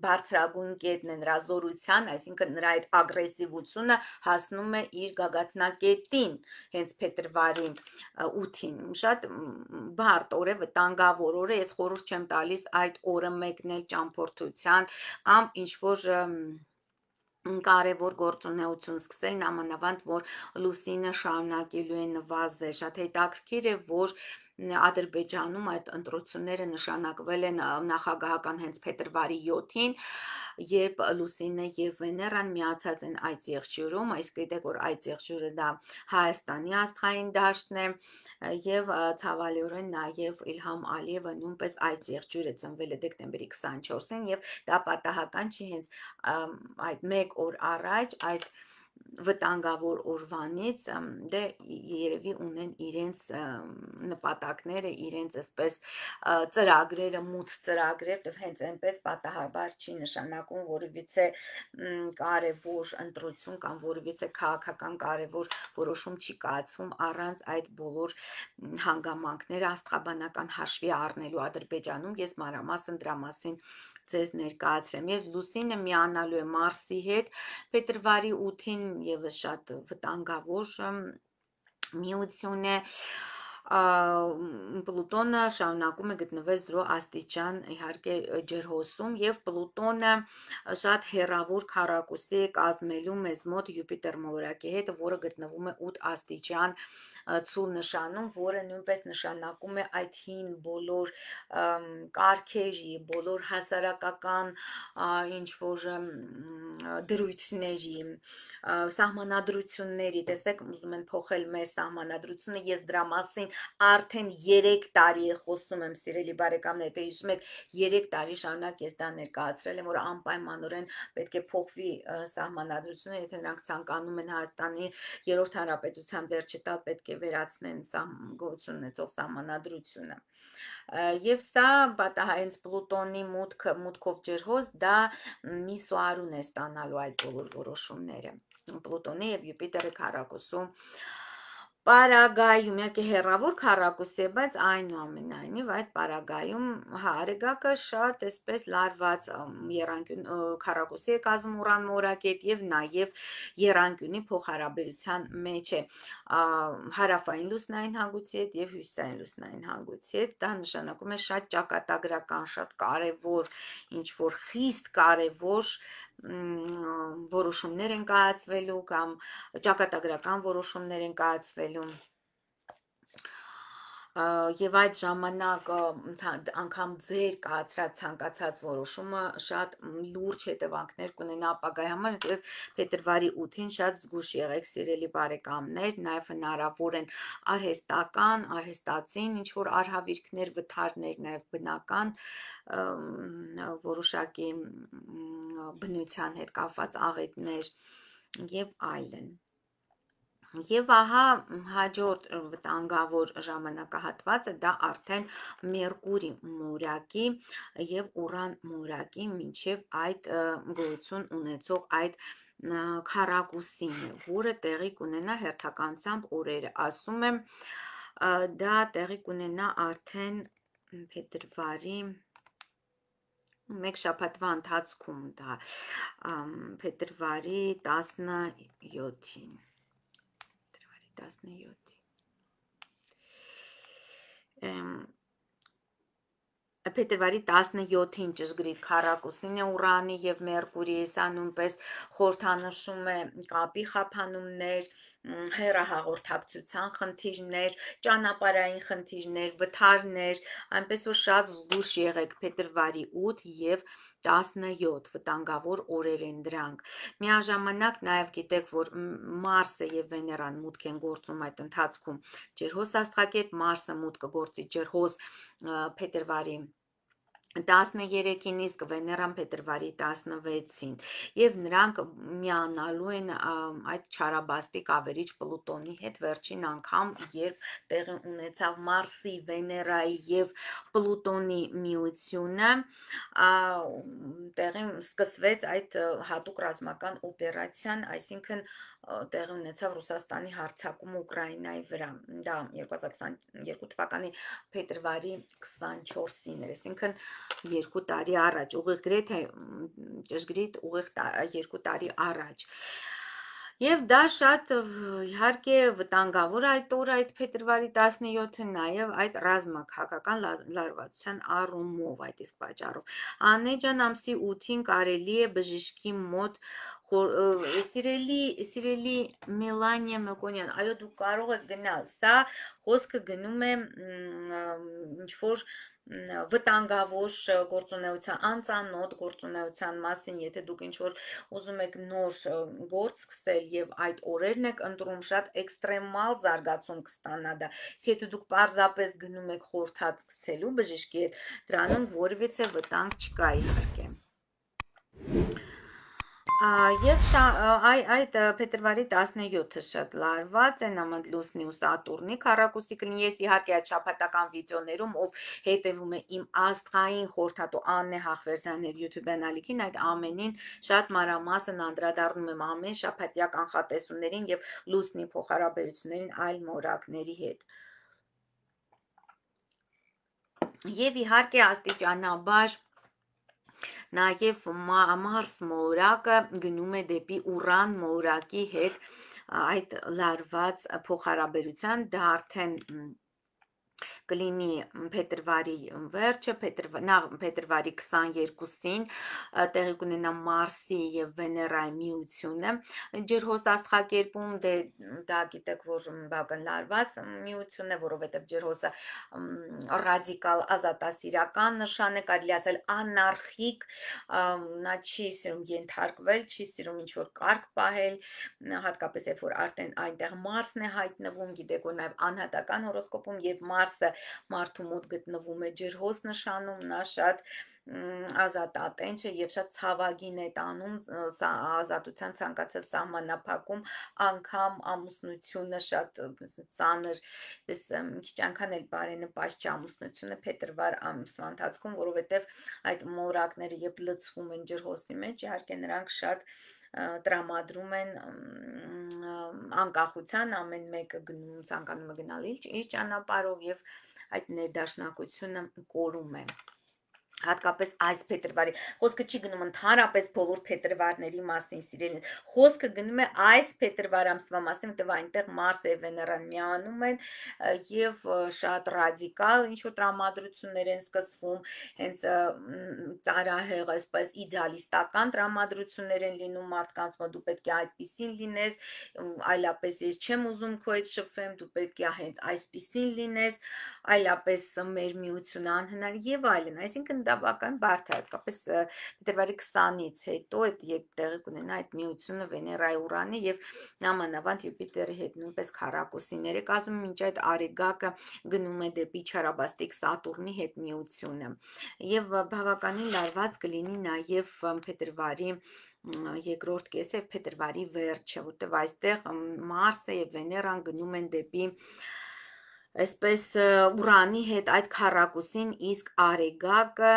բարձրագույն կետն է նրա զորության, այսինքն նրա այդ ագրեսիվությունը հասնում է իր գագաթնակետին, հենց փետրվարի 8-ին։ Շատ բարդ օր է, վտանգավոր օր է, ես խորհուրդ չեմ տալիս այդ օրը մեկնել ճամփորդության կամ ինչ-որ կարևոր գործունեություն սկսել, նամանավանդ, որ լուսինը շարունակելու է նվազել, շատ հետաքրքիր է, որ Ադրբեջանում այդ ընտրությունները նշանակվել են նախագահական հենց փետրվարի 7-ին, երբ Լուսինը եւ Վեներան միացած են այդ եղջյուրում, այս գիտեք որ այդ եղջյուրը դա Հայաստանի աստղային դաշտն է եւ ցավալիորեն նաեւ Իլհամ Ալիևը նույնպես այդ եղջյուրը ծնվել է դեկտեմբերի 24-ին եւ դա պատահական չի հենց այդ մեկ օր առաջ այդ վտանգավոր օրվանից դե երևի ունեն իրենց նպատակները, իրենց այսպես ծրագրերը, մութ ծրագրեր, դե հենց այնպես պատահաբար չի նշանակում որևիցե կարևոր ընտրություն կամ որևիցե քաղաքական կարևոր որոշում չի կայացվում առանց այդ բոլոր հանգամանքները աստղաբանական հաշվի առնելու Ադրբեջանում։ Ես մանրամասն դրա մասին ձեզ ներկայացրեմ եւ Լուսինը միանալու է Մարսի հետ փետրվարի 8-ին եւս շատ վտանգավոր միություն է Պլուտոնը շարունակում է գտնվել 0 աստիճան իհարկե ջրհոսում եւ Պլուտոնը շատ հեռավոր քառակուսի է կազմելու մեզ մոտ Յուպիտեր մոլորակի հետ, որը գտնվում է 8 աստիճան ցուլ նշանում, որը նույնպես նշանակում է այդ հին բոլոր կարգերի, բոլոր հասարակական ինչ որ դրույթների, սահմանադրությունների, տեսեք, ուզում են փոխել մեր սահմանադրությունը, ես դրա մասին արդեն 3 տարի խոսում եմ, սիրելի բարեկամներ, դե հիշում եք 3 տարի շարունակ ես դա ներկայացրել եմ, որ անպայմանորեն պետք է փոխվի սահմանադրությունը, եթե նրանք ցանկանում են Հայաստանի 3-րդ հանրապետության վերջը տալ, պետք է վերացնեն գոյություն ունեցող սահմանադրությունը։ Եվ սա հենց Պլուտոնի մուտքով ջրհոս դա Միսուարուն է ստանալու այդ բոլոր որոշումները։ Պլուտոնի եւ Յուպիտերի քառակուսում Պարագայում իհարկե հեռավոր քառակուսի է, բայց այնուամենայնիվ այդ Պարագայում Արեգակը շատ այսպես լարված եռանկյուն քառակուսի է կազմում Ուրան մորակետ եւ նաեւ եռանկյունի փոխհարաբերության մեջ է հարավային լուսնային հանգույցի հետ եւ հյուսիսային լուսնային հանգույցի հետ։ Դա նշանակում է շատ ճակատագրական, շատ կարեւոր, ինչ որ խիստ կարեւոր որոշումներ են կայացվելու կամ ճակատագրական որոշումներ են կայացվելու եւ այդ ժամանակ անգամ ձեր կայացրած ցանկացած որոշումը շատ լուրջ հետևանքներ կունենա ապագայի համար, որովհետեւ փետրվարի 8-ին շատ զգուշ եղեք, սիրելի բարեկամներ, նաեւ հնարավոր են արհեստական, արհեստացին ինչ որ արհավիրքներ, վթարներ, նաեւ բնական որոշակի բնության հետ կապված աղետներ եւ այլն։ Եվ ահա հաջորդ վտանգավոր ժամանակահատվածը դա արդեն Մերկուրի մորակի եւ Ուրան մորակի մինչեւ այդ գոյություն ունեցող այդ քառակուսին է, որը տեղի կունենա հերթականությամբ օրերը, ասում եմ, դա տեղի կունենա արդեն փետրվարի մեկ շաբաթվա ընթացքում դա փետրվարի 17-ին 17 Փետրվարի 17-ին ճշգրիտ քառակուսին է Ուրանի եւ Մերկուրիի, սա նույնպես խորհրդանշում է կապի խափանումներ, հեռահաղորդակցության խնդիրներ, ճանապարհային խնդիրներ, վթարներ, այնպես որ շատ զգուշ եղեք փետրվարի 8 եւ 17 վտանգավոր օրեր են դրանք։ Միաժամանակ նաև գիտեք, որ Մարսը եւ Վեներան մուտք են գործում այդ ընթացքում ջրհոս աստղակերպ, Մարսը մուտք կգործի ջրհոս փետրվարի 13-ին, իսկ Վեներան փետրվարի 16-ին եւ նրանք միանալու են այդ չարաբաստիկ ավերիչ Պլուտոնի հետ վերջին անգամ, երբ տեղի ունեցավ Մարսի, Վեներայի եւ Պլուտոնի միությունը, տեղի սկսվեց այդ հատուկ ռազմական օպերացիան, այսինքն տեղի ունեցավ Ռուսաստանի հարձակումը Ուկրաինայի վրա, դա 2022 թվականի փետրվարի 24-ին էր, այսինքն 2 տարի առաջ, ուղիղ գրեթե ճշգրիտ ուղիղ 2 տարի առաջ։ Եվ դա շատ իհարկե վտանգավոր այդ օրը այդ փետրվարի 17-ը նաև այդ ռազմաքաղաքական լարվածության առումով այդ իսկ պատճառով Անեջան ամսի 8-ին կարելի է բժիշկի մոտ սիրելի Մելանիա Մելկոնյան, այո դու կարող եք գնալ, սա խոսքը գնում է ինչ որ վտանգավոր գործունեության, անծանոթ գործունեության մասին, եթե դուք ինչ որ ուզում եք նոր գործ սկսել եւ այդ օրերն եք ընտրում, շատ էքստրեմալ զարգացում կստանա դա։ Եթե դուք պարզապես գնում եք խորհրդած սկսելու բժշկի հետ, դրանում որևիցե վտանգ չկա իհարկե։ Եվ այդ փետրվարի 17-ը շատ լարված է նամդ լուսնի ու Սատուրնի քառակուսի կլինի, ես իհարկե այդ շաբաթական վիդեոներում, ով հետևում է իմ աստղային խորհրդատու Աննե Հախվերդյանների YouTube ալիքին, այդ ամենին շատ մանրամասն անդրադառնում եմ ամեն շաբաթյա կանխատեսումներին եւ լուսնի փոխհարաբերություններին այլ մորակների հետ։ Եվ իհարկե աստիճանաբար Նաև Մարս մոլորակը գնում է դեպի Ուրան մոլորակի հետ այդ լարված փոխհարաբերության, դա արդեն կլինի փետրվարի վերջը, փետրվարի 22-ին տեղի կունենա Մարսի եւ Վեներայի միությունը ջրհոս աստղակերպում, դա գիտեք, որ բավական լարված միություն է, որովհետեւ ջրհոսը ռադիկալ ազատասիրական նշան է, կարելի ասել անարխիկ, նա չի սիրում ենթարկվել, չի սիրում ինչ որ կարգ պահել, հատկապես երբ որ արդեն այնտեղ Մարսն է հայտնվում, գիտեք, որ նաեւ անհատական հորոսկոպում եւ Մարսը մարդու մոտ գտնվում է ջրհոս նշանում, նա շատ ազատատենչ է եւ շատ ցավագին է տանում ազատության ցանկացած սահմանափակում, անգամ ամուսնությունը շատ ծանր, պես քիչ անգամ էլ բարենպաստ չէ ամուսնությունը փետրվար ամսվա ընթացքում, որովհետեւ այդ մորակները երբ լցվում են ջրհոսի մեջ, իհարկե նրանք շատ տրամադրում են անկախության, ամեն մեկը գնում ցանկանում է գնալ իր ճանապարհով եւ այդ ներդաշնակությունը կորում է հատկապես այս փետրվարի խոսքը չի գնում ընդհանրապես բոլոր փետրվարների մասին սիրելին խոսքը գնում է այս փետրվար ամսվա մասին որտեղ այնտեղ Մարսը եւ Վեներան միանում են եւ շատ ռադիկալ ինչ որ տրամադրություններ են սկսվում հենց տարահեղ այսպես իդեալիստական տրամադրություններ են լինում մարդկանց մոտ դու պետք է այդպեսին լինես այլապես ես չեմ ուզում քո հետ շփվեմ դու պետք է հենց այսպեսին լինես այլապես մեր միությունը անհնար եւ այլն այսինքն դա բավական բարդ է հատկապես փետրվարի 20-ից հետո երբ տեղի կունենա այդ միությունը Վեներայի Ուրանի եւ նամանավանդ Յուպիտերի հետ նույնպես քառակուսիներ է կազմում մինչ այդ արեգակը գնում է դեպի չարաբաստիկ Սատուրնի հետ միությունը եւ բավականին լարված կլինի նաեւ փետրվարի երկրորդ կեսը փետրվարի վերջը որտեղ այստեղ Մարսը եւ Վեներան գնում են դեպի այսպես Ուրանի հետ այդ քառակուսին իսկ արեգակը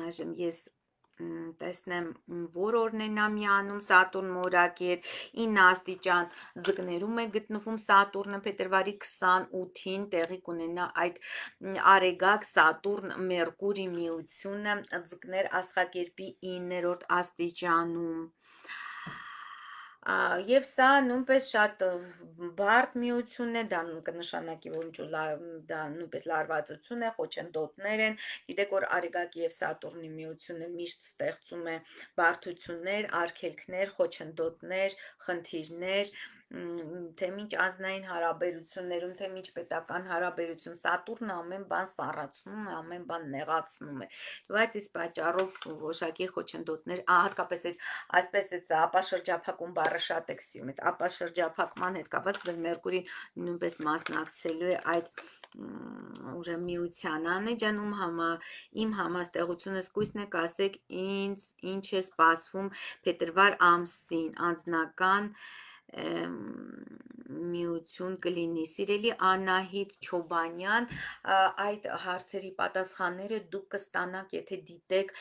այժմ ես տեսնեմ որ օրն է նա միանում Սատուրն մորակի հետ 9 աստիճան ձկներում է գտնվում Սատուրնը փետրվարի 28-ին տեղի կունենա այդ արեգակ Սատուրն Մերկուրի միությունը ձկներ աստղակերպի 9-րդ աստիճանում Եվ սա նույնպես շատ բարդ միություն է, դա կնշանակի, որ դա նույնպես լարվածություն է, խոչընդոտներ են, գիտեք, որ Արեգակի եւ Սատուրնի միությունը միշտ ստեղծում է բարդություններ, արգելքներ, խոչընդոտներ, խնդիրներ, թե մինչ անձնային հարաբերություններում, թե մինչ պետական հարաբերություն Սատուրնը ամեն բան սառացնում է, ամեն բան նեղացնում է։ Եվ այդ իսկ պատճառով որոշակի խոչընդոտներ, հատկապես այդ այսպես է ապաշրջափակում բառը շատ եք սիրում, այդ ապաշրջափակման հետ կապված դեռ Մերկուրին նույնպես մասնակցելու է այդ ուրեմն միության անեջանում իմ համաստեղությունս կույսն եք ասեք ինձ ինչ է սպասվում փետրվար ամսին անձնական միություն կլինի։ Սիրելի Անահիտ Չոբանյան, այդ հարցերի պատասխանները դուք կստանաք, եթե դիտեք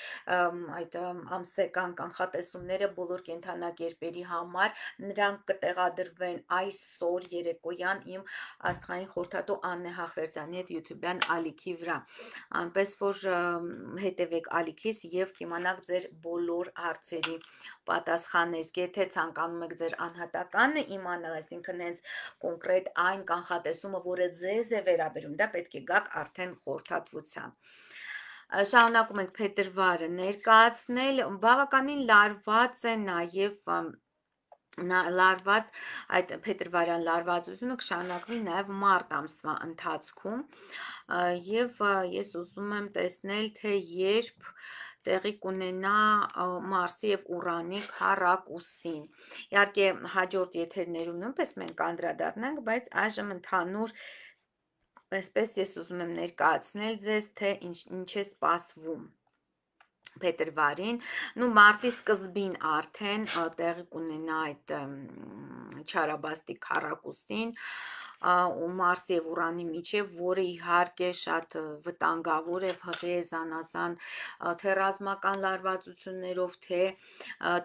այդ ամսական կանխատեսումները բոլոր կենդանակերպերի համար, նրանք կտեղադրվեն այսօր երեկոյան իմ աստղային խորհրդատու Աննե Հախվերդյանի հետ YouTube-յան ալիքի վրա, այնպես որ հետևեք ալիքիս եւ կիմանաք ձեր բոլոր հարցերի պատասխաններ, եթե ցանկանում եք ձեր անհատականը իմանալ, այսինքն հենց կոնկրետ այն կանխատեսումը, որը ձեզ է վերաբերում, դա պետք է գաք արդեն խորհրդատվությամբ։ Շարունակում ենք փետրվարը ներկայացնել, բավականին լարված է նաև լարված այդ փետրվարյան լարվածությունը կշարունակվի նաև մարտ ամսվա ընթացքում եւ ես ուզում եմ տեսնել, թե երբ տեղի կունենա Մարսի եւ Ուրանի քառակուսին։ Իհարկե հաջորդ եթերներում նույնպես մենք անդրադառնանք, բայց այժմ ընդհանուր այսպես ես ուզում եմ ներկայացնել ձեզ, թե ինչ է սպասվում փետրվարին, մարտի սկզբին արդեն տեղի կունենա այդ չարաբաստիկ քառակուսին ու Մարսի եւ Ուրանի միջև, որը իհարկե շատ վտանգավոր է հղի զանազան թե ռազմական լարվածություններով, թե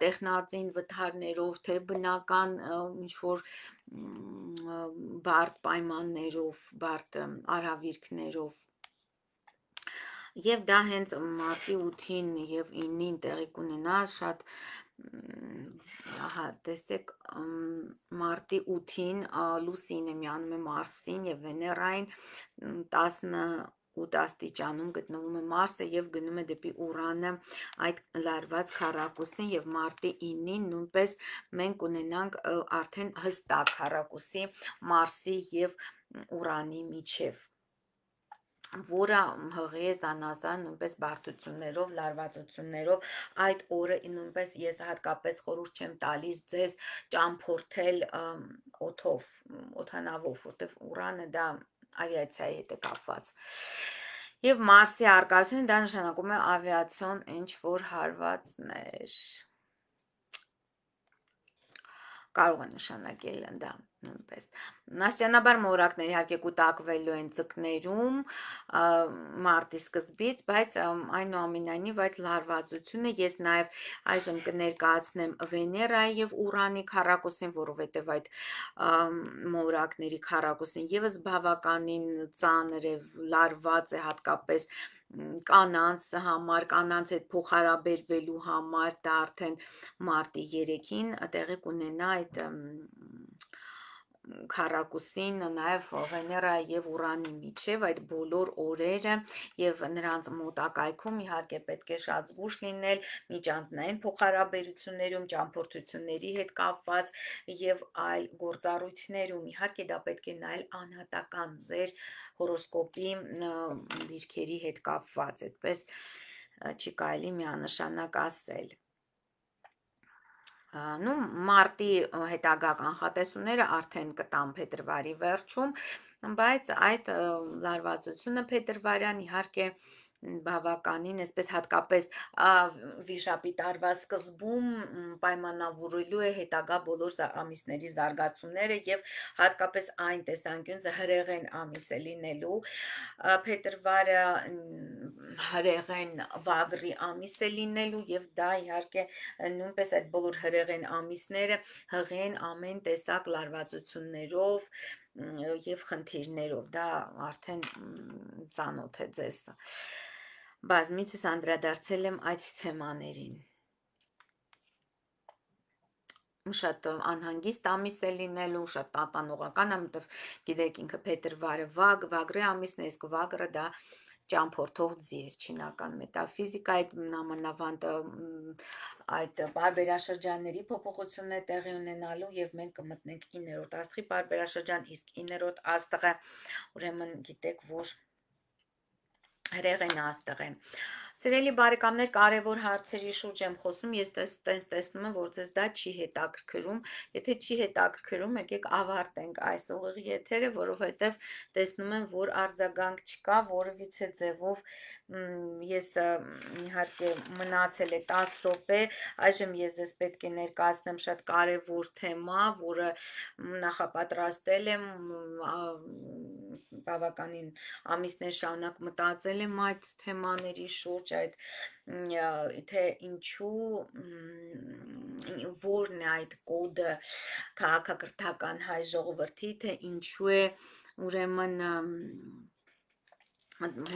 տեխնածին վթարներով, թե բնական ինչ-որ բարդ պայմաններով, բարդ արհավիրքներով Եվ դա հենց մարտի 8-ին եւ 9-ին տեղի կունենա շատ տեսեք մարտի 8-ին լուսինը միանում է Մարսին եւ Վեներային 18 աստիճանում գտնվում է Մարսը եւ գնում է դեպի Ուրանը այդ լարված քառակուսին եւ մարտի 9-ին նույնպես մենք ունենանք արդեն հստակ քառակուսի Մարսի եւ Ուրանի միջև որը հղի է զանազան նույնպես բարդություններով, լարվածություններով, այդ օրը նույնպես ես հատկապես խորհուրդ չեմ տալիս ձեզ ճամփորդել օդով, օդանավով, որտեղ Ուրանը դա ավիացիայի հետ է կապված։ Եվ Մարսի արկայությունը դա նշանակում է ավիացիոն ինչ-որ հարվածներ։ Կարող է նշանակել դա նույնպես։ Աստիճանաբար մոլորակները իհարկե կուտակվելու են ձկներում մարտի սկզբից, բայց այնուամենայնիվ այդ լարվածությունը ես նաև այժմ կներկայացնեմ Վեներայի եւ Ուրանի քառակուսին, որովհետեւ այդ մոլորակների քառակուսին եւս բավականին ծանր է, լարված է հատկապես կանանց համար, կանանց հետ փոխհարաբերվելու համար, դա արդեն մարտի 3-ին տեղի կունենա այդ քառակուսին նաև Վեներայի եւ Ուրանի միջև այդ բոլոր օրերը եւ նրանց մոտակայքում իհարկե պետք է շատ զգուշ լինել միջանձնային փոխհարաբերություններում, ճամփորդությունների հետ կապված եւ այլ գործառույթներում իհարկե դա պետք է նայել անհատական ձեր հորոսկոպի դիրքերի հետ կապված, այդպես չի կարելի միանշանակ ասել մարտի հետագա կանխատեսումները արդեն կտամ փետրվարի վերջում, բայց այդ լարվածությունը փետրվարյան իհարկե բավականին, այսպես հատկապես վիշապի տարվա սկզբում պայմանավորելու է հետագա բոլոր ամիսների զարգացումները եւ հատկապես այն տեսանկյունը հրեղեն ամիս է լինելու փետրվարը հրեղեն վագրի ամիս է լինելու եւ դա իհարկե նույնպես այդ բոլոր հրեղեն ամիսները հղեն ամեն տեսակ լարվածություններով եւ խնդիրներով դա արդեն ծանոթ է ձեզ բազմիցս անդրադարձել եմ այդ թեմաներին շատ անհանգիստ ամիս է լինելու, շատ տատանողական է, որտեվ գիտեք ինքը փետրվարը վագրի ամիսն է, իսկ վագրը դա ճամփորդող ձի է չինական մետաֆիզիկայի նամանավանդ այդ բարբերաշրջանների փոփոխությունն է տեղի ունենալու եւ մենք կմտնենք 9-րդ աստղի բարբերաշրջան, իսկ 9-րդ աստղը ուրեմն գիտեք, որ հրեղեն աստղ է։ Սիրելի բարեկամներ, կարևոր հարցերի շուրջ եմ խոսում, ես տեսնում եմ, որ ձեզ դա չի հետաքրքրում, եթե չի հետաքրքրում, եկեք ավարտենք այս ուղիղ եթերը, որովհետև տեսնում եմ, որ արձագանք չկա, որևիցե ձևով ես իհարկե մնացել է 10 րոպե, այժմ ես ձեզ պետք է ներկայացնեմ շատ կարևոր թեմա, որը նախապատրաստել եմ, բավականին ամիսներ շարունակ մտածել եմ այդ թեմաների շուրջ, այդ թե ինչու որն է այդ կոդը քաղաքակրթական հայ ժողովրդի, թե ինչու է ուրեմն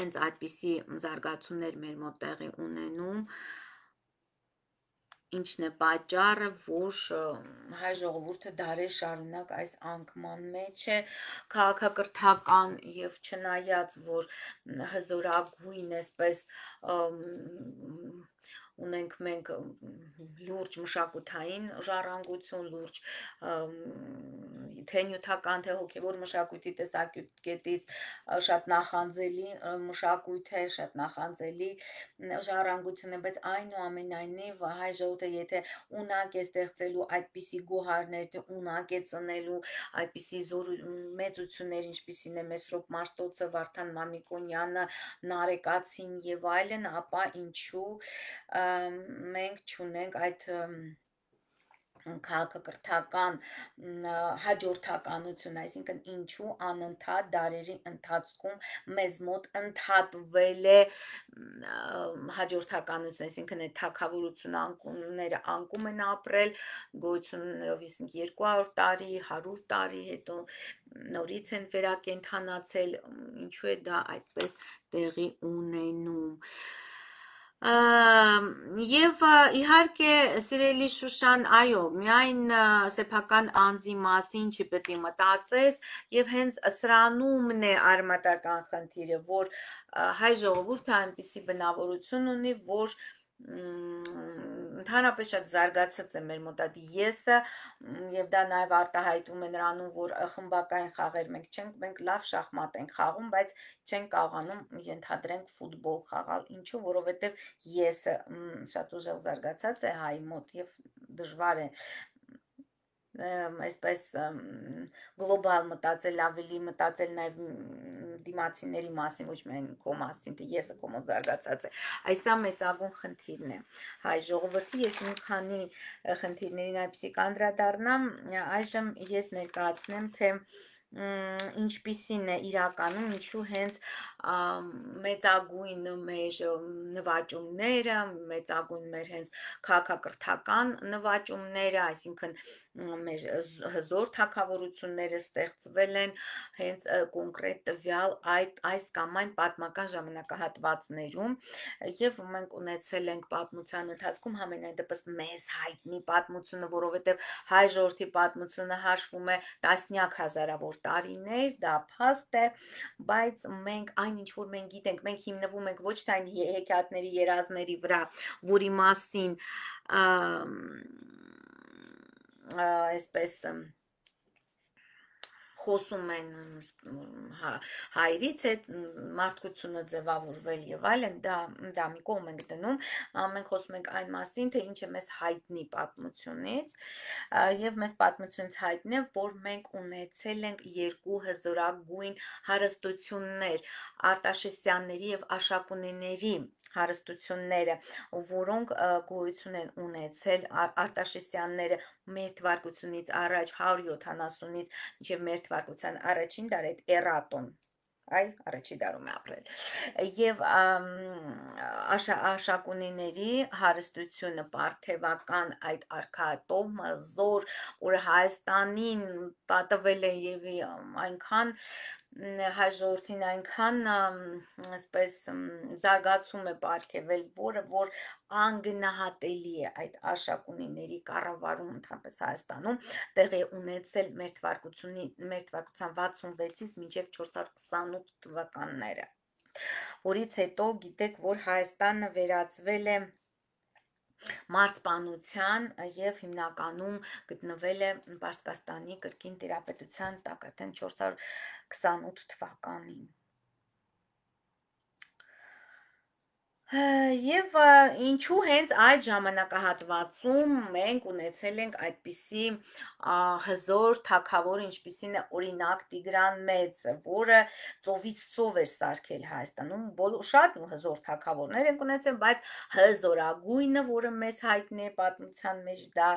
հենց այդպիսի զարգացումներ մեր մոտ տեղի ունենում, ինչն է պատճառը, որ հայ ժողովուրդը դարեր շարունակ այս անկման մեջ է, քաղաքակրթական եւ չնայած, որ հզորագույն այսպես ունենք մենք լուրջ մշակութային ժառանգություն, լուրջ թե նյութական, թե հոգևոր մշակույթի տեսակետից շատ նախանձելի մշակույթ է, շատ նախանձելի ժառանգություն է, բայց այնուամենայնիվ հայ ժողովուրդը եթե ունակ է ստեղծելու այդպիսի գոհարներ, թե ունակ է ծնելու այդպիսի մեծություններ, ինչպիսին է Մեսրոպ Մաշտոցը, Վարդան Մամիկոնյանը, Նարեկացին եւ այլն, ապա ինչու մենք չունենք այդ քաղաքակրթական հաջորդականություն, այսինքն ինչու անընդհատ դարերի ընթացքում մեզ մոտ ընդհատվել է հաջորդականություն, այսինքն այդ թագավորությունը անկումները անկում են ապրել, գոյություններով 200 տարի, 100 տարի հետո նորից են վերակենդանացել, ինչու է դա այդպես տեղի ունենում։ Եվ իհարկե սիրելի Շուշան, այո, միայն սեփական անձի մասին չպետք է մտածես եւ հենց սրանումն է արմատական խնդիրը, որ հայ ժողովուրդը այնպիսի բնավորություն ունի, որ ընդհանրապես շատ զարգացած է մեր մոտ այդ եսը եւ դա նաեւ արտահայտվում է նրանում, որ խմբակային խաղեր մենք լավ շախմատ ենք խաղում, բայց չենք կարողանում ենթադրենք ֆուտբոլ խաղալ, ինչու, որովհետեւ եսը շատ ուժեղ զարգացած է հայ մոտ եւ դժվար է այսպես գլոբալ մտածել, ավելի մտածել նաև դիմացիների մասին, ոչ միայն քո մասին, թե եսը քո մոտ զարգացած է։ Այս սա մեծագույն խնդիրն է հայ ժողովրդի, ես մի քանի խնդիրներին այդպեսի կանդրադառնամ, այժմ ես ներկայացնեմ, թե ինչպիսին է իրականում, ինչու հենց մեծագույն մեր նվաճումները, մեծագույն մեր հենց քաղաքակրթական նվաճումները, այսինքն մեր հզոր թագավորությունները ստեղծվել են հենց կոնկրետ տվյալ այս կամ այն պատմական ժամանակահատվածներում եւ մենք ունեցել ենք պատմության ընթացքում համենայն դեպս մեզ հայտնի պատմությունը, որովհետեւ հայ ժողովրդի պատմությունը հաշվում է տասնյակ հազարավոր տարիներ, դա փաստ է, բայց մենք այն ինչ որ մենք գիտենք, մենք հիմնվում ենք ոչ թե այն հեքիաթների երազների վրա, որի մասին այսպես խոսում են հայրից է մարդկությունը ձևավորվել եւ այլն, դա մի կողմ ենք դնում, մենք խոսում ենք այն մասին, թե ինչ է մեզ հայտնի պատմությունից եւ մեզ պատմությունից հայտնի է, որ մենք ունեցել ենք երկու հզորագույն հարստություններ, Արտաշեսյանների եւ Աշակունիների հարստությունները, որոնք գոյություն են ունեցել Արտաշեսյանները մեր թվարկությունից առաջ 170-ից մինչև մեր թվարկության առաջին դար այդ էրատոն առաջի դարում է ապրել եւ Աշակունիների հարստությունը պարթևական այդ արքայատոհը զոր, որը Հայաստանին պատվել է եւ այնքան հայ ժողովրդին այնքան այսպես զարգացում է պարգևել, որ անգնահատելի է այդ Աշակունիների կառավարում ընդհանրապես Հայաստանում տեղի ունեցել մեր թվարկության 66-ից մինչև 428 թվականները, որից հետո գիտեք, որ Հայաստանը վերածվել է մարզպանության եւ հիմնականում գտնվել է Պարսկաստանի կրկին տիրապետության տակ, արդեն 428 թվականին։ Եվ ինչու հենց այդ ժամանակահատվածում մենք ունեցել ենք այդպիսի հզոր թագավոր, ինչպիսին է օրինակ Տիգրան Մեծը, որը ծովից ծով էր սարքել Հայաստանում, շատ հզոր թագավորներ ենք ունեցել, բայց հզորագույնը, որը մեզ հայտնի է պատմության մեջ, դա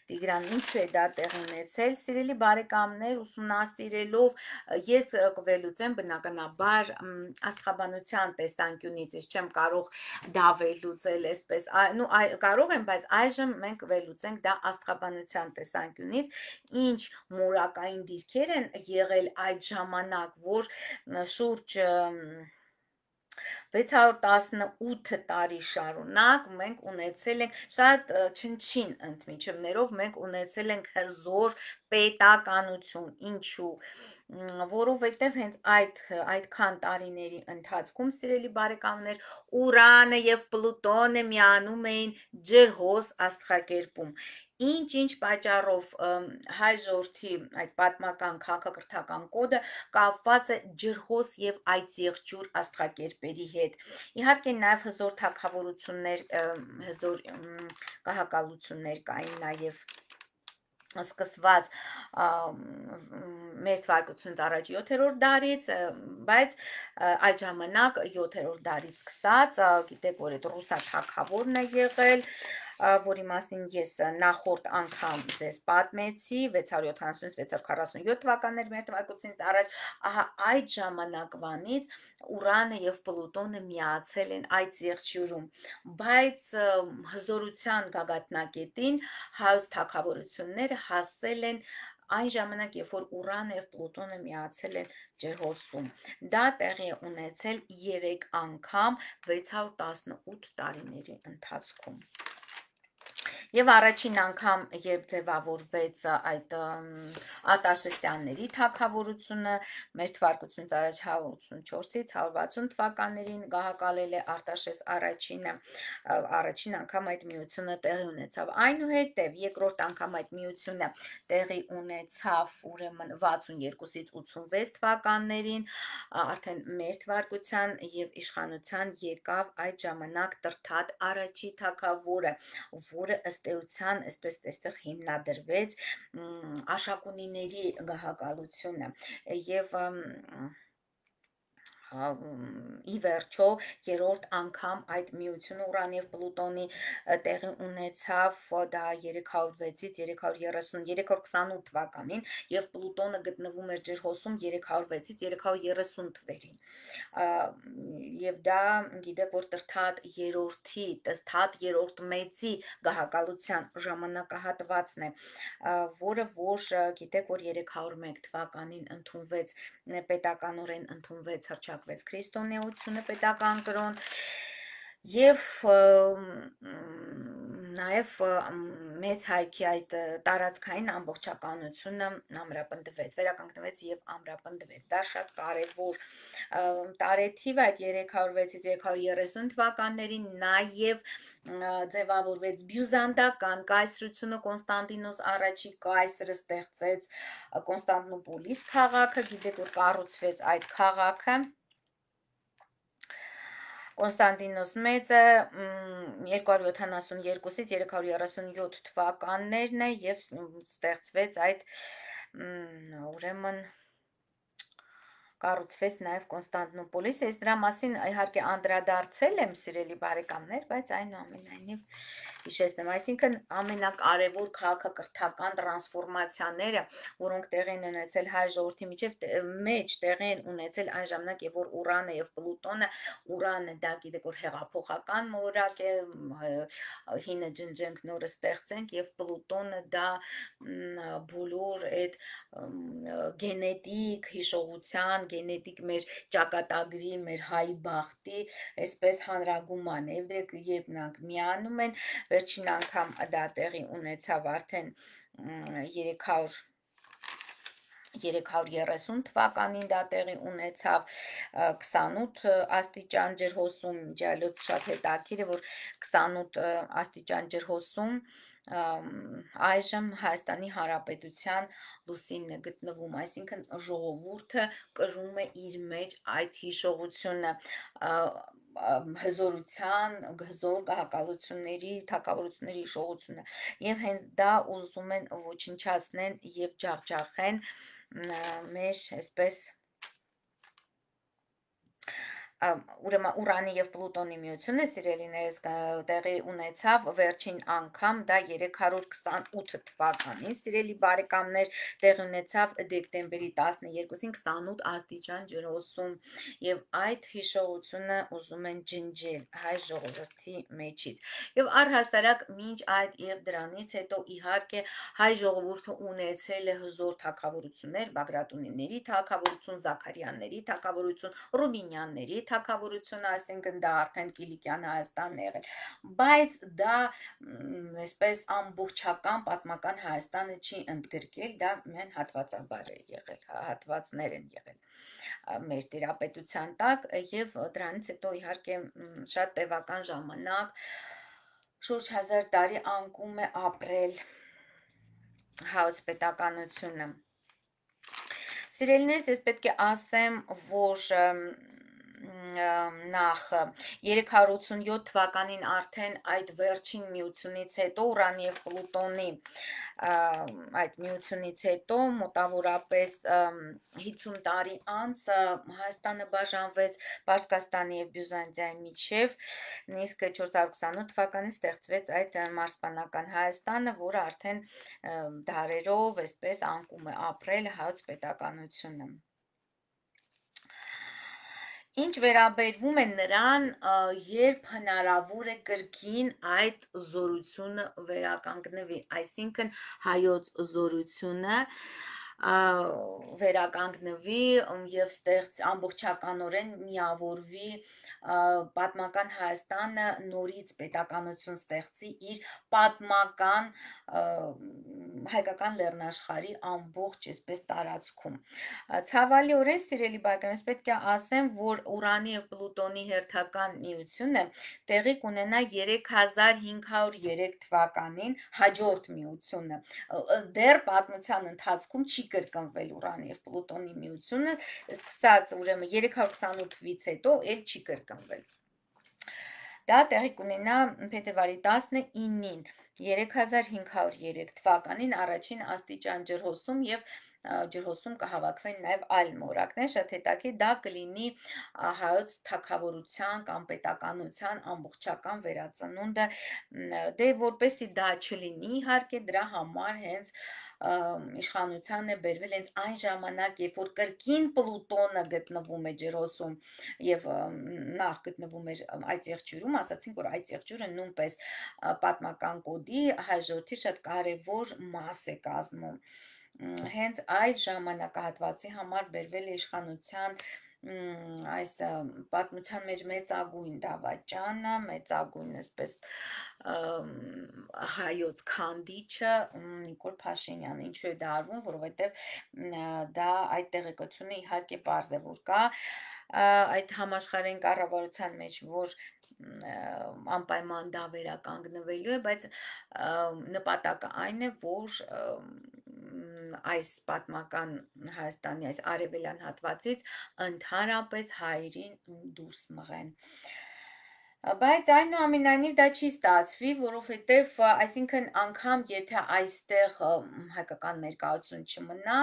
Տիգրան, ինչու է դա տեղի ունեցել, սիրելի բարեկամներ, ուսումնասիրելով ես կվելուծեմ բնականաբար աստղաբանության տեսանկյունից, ես չեմ կարող դա վերլուծել այսպես, կարող եմ, բայց այժմ մենք վերլուծենք դա աստղաբանության տեսանկյունից, ինչ մորակային դիրքեր են եղել այդ ժամանակ, որ շուրջ 618 տարի շարունակ մենք ունեցել ենք շատ չնչին ընդմիջումներով մենք ունեցել ենք հզոր պետականություն, ինչու որովհետև հենց այդքան տարիների ընթացքում, սիրելի բարեկամներ, Ուրանը եւ Պլուտոնը միանում էին ջրհոս աստղակերպում։ Ինչ պատճառով հայ ժողովրդի այդ պատմական քաղաքակրթական կոդը կապված է ջրհոս եւ այծեղջյուր աստղակերպերի հետ։ Իհարկե նաև հզոր թագավորություններ, հզոր կահակալություններ կային նաև սկսված մեր թվարկությունից առաջ 7-րդ դարից, բայց այդ ժամանակ 7-րդ դարից սկսած, գիտեք, որ այդ ռուսա թագավորն է եղել, որի մասին ես նախորդ անգամ ձեզ պատմեցի 670-647 թվականներ մեր թվարկությունից առաջ, ահա այդ ժամանակվանից Ուրանը եւ Պլուտոնը միացել են այդ զեղչյուրում, բայց հզորության գագաթնակետին հայոց թագավորությունները հասել են այն ժամանակ, երբ որ Ուրանը եւ Պլուտոնը միացել են ջրհոսում, դա տեղի է ունեցել 3 անգամ 618 տարիների ընթացքում։ Եվ առաջին անգամ, երբ ձևավորվեց այդ Արտաշեսյանների թագավորությունը, մեր թվարկությունից առաջ 184-ից 160 թվականներին գահակալել է Արտաշես առաջինը, առաջին անգամ այդ միությունը տեղի ունեցավ։ Այնուհետև երկրորդ անգամ այդ միությունը տեղի ունեցավ ուրեմն 62-ից 86 թվականներին, արդեն մեր թվարկության եւ իշխանության եկավ այդ ժամանակ Տրթատ առաջի թագավորը, որը ըստ էության, այսպես այստեղ հիմնադրվեց Աշակունիների գահակալությունը եւ ի վերջո երրորդ անգամ այդ միությունը Ուրան եւ Պլուտոնի տեղի ունեցավ դա 306-ից 328 թվականին եւ Պլուտոնը գտնվում էր ջրհոսում 306-ից 330 թվերին եւ դա գիտեք որ Տրթատ երրորդ մեծի գահակալության ժամանակահատվածն է որը որ գիտեք որ 301 թվականին ընդունվեց պետականորեն ընդունվեց հռչակվեց քրիստոնեությունը պետական կրոն եւ նաեւ մեծ հայքի այդ տարածքային ամբողջականությունը ամրապնդվեց, վերականգնվեց եւ ամրապնդվեց։ Դա շատ կարեւոր տարեթիվ այդ 306-ից 330 թվականներին նաեւ ձևավորվեց բյուզանդական կայսրությունը Կոնստանտինոս առաջի կայսրը ստեղծեց Կոնստանտինոպոլիս քաղաքը, գիտեք որ կառուցվեց այդ քաղաքը Կոնստանտինոս մեծը 272-ից 337 թվականներն է եւ ստեղծվեց այդ ուրեմն կառուցվեց նաև Կոնստանտինոպոլիսը, ես դրա մասին իհարկե անդրադարձել եմ սիրելի բարեկամներ, բայց այնուամենայնիվ հիշեցնեմ, այսինքն ամենակարևոր քաղաքակրթական տրանսֆորմացիաները, որոնք տեղի են ունեցել հայ ժողովրդի մեջ տեղի են ունեցել այն ժամանակ, երբ որ Ուրանը եւ Պլուտոնը, Ուրանը դա գիտեք որ հեղափոխական մոլորակ է, հինը ջնջենք նորը ստեղծենք եւ Պլուտոնը դա բոլոր այդ գենետիկ հիշողության գենետիկ մեր ճակատագրի, մեր հայի բախտի, այսպես հանրագուման է, եւ երբ նրանք միանում են, վերջին անգամ դա տեղի ունեցավ արդեն 330 թվականին դա տեղի ունեցավ 28 աստիճան ջրհոսում, ջալոց շատ հետաքրքիր է, որ 28 աստիճան ջրհոսում այժմ Հայաստանի Հանրապետության լուսինն է գտնվում, այսինքն ժողովուրդը կրում է իր մեջ այդ հիշողությունը հզորության, հզոր գահակալությունների, թակավորությունների իշխողությունը եւ հենց դա ուզում են ոչնչացնեն եւ ջախջախեն մեր այսպես ուրեմն Ուրանի եւ Պլուտոնի միությունը սիրելիներս տեղի ունեցավ վերջին անգամ դա 328 թվականին սիրելի բարեկամներ տեղի ունեցավ դեկտեմբերի 12-ին 28 աստիճան ջրոսում եւ այդ հիշողությունը ուզում են ջնջել հայ ժողովրդի մեջից եւ առհասարակ մինչ այդ եւ դրանից հետո իհարկե հայ ժողովուրդը ունեցել է հզոր թագավորություններ Բագրատունիների թագավորություն Զաքարյանների թագավորություն Ռուբինյանների թագավորությունը, այսինքն դա արդեն Կիլիկյան Հայաստանն է եղել, բայց դա այսպես ամբողջական պատմական Հայաստանը չի ընդգրկել, դա միայն հատվածաբար է եղել, հատվածներ են եղել մեր տիրապետության տակ եւ դրանից հետո իհարկե շատ տևական ժամանակ շուրջ 1000 տարի անկում է ապրել հայոց պետականությունը Սիրելիներս, ես պետք է ասեմ, որ նախ 387 թվականին արդեն այդ վերջին միությունից հետո Ուրանի եւ Պլուտոնի այդ միությունից հետո մոտավորապես 50 տարի անց Հայաստանը բաժանվեց Պարսկաստանի եւ Բյուզանդիայի միջև նույնիսկ 428 թվականին ստեղծվեց այդ մարզպանական Հայաստանը, որը արդեն դարերով այսպես անկում է ապրել հայոց պետականությունը Ինչ վերաբերվում է նրան, երբ հնարավոր է կրկին այդ զորությունը վերականգնվի, այսինքն հայոց զորությունը վերականգնվի եւ ամբողջականորեն միավորվի պատմական Հայաստանը նորից պետականություն ստեղծի իր պատմական հայկական լեռնաշխարհի ամբողջ այսպես տարածքում ցավալիորեն սիրելի բարեկամներ պետք է ասեմ որ Ուրանի եւ Պլուտոնի հերթական միությունը տեղի կունենա 3503 թվականին հաջորդ միությունը դեռ պատմության ընթացքում չի կրկնվել Ուրանի եւ Պլուտոնի միությունը սկսած ուրեմն 328-ից հետո էլ չի կրկնվել Դա տեղի կունենա փետրվարի 19-ին 3503 թվականին առաջին աստիճան ջրհոսում եւ ջրհոսում կհավաքվեն նաև այլ մորակներ, շատ հետաքրքիր դա կլինի հայոց թագավորության կամ պետականության ամբողջական վերածնունդը, դե որպեսզի դա չլինի, իհարկե դրա համար հենց իշխանության է բերվել հենց այն ժամանակ, երբ որ կրկին Պլուտոնը գտնվում է ջրհոսում եւ նախ գտնվում էր այդ եղջյուրում, ասացինք որ այդ եղջյուրը նույնպես պատմական կոդի հայ ժողովրդի շատ կարևոր մաս է կազմում Հենց այդ ժամանակահատվածի համար բերվել է իշխանության այս պատմության մեջ մեծագույն դավաճանը, մեծագույն այսպես հայոց քանդիչը Նիկոլ Փաշինյանը, ինչու է դա արվում, որովհետև դա այդ տեղեկությունը իհարկե պարզ է, որ կա այդ համաշխարհային կառավարության մեջ, որ անպայման դա վերականգնվելու է, բայց նպատակը այն է, որ այս պատմական Հայաստանի այս արևելյան հատվածից ընդհանրապես հայերին դուրս մղեն Բայց այնուամենայնիվ դա չի ստացվի, որովհետև այսինքն անգամ եթե այստեղ հայկական ներկայություն չմնա,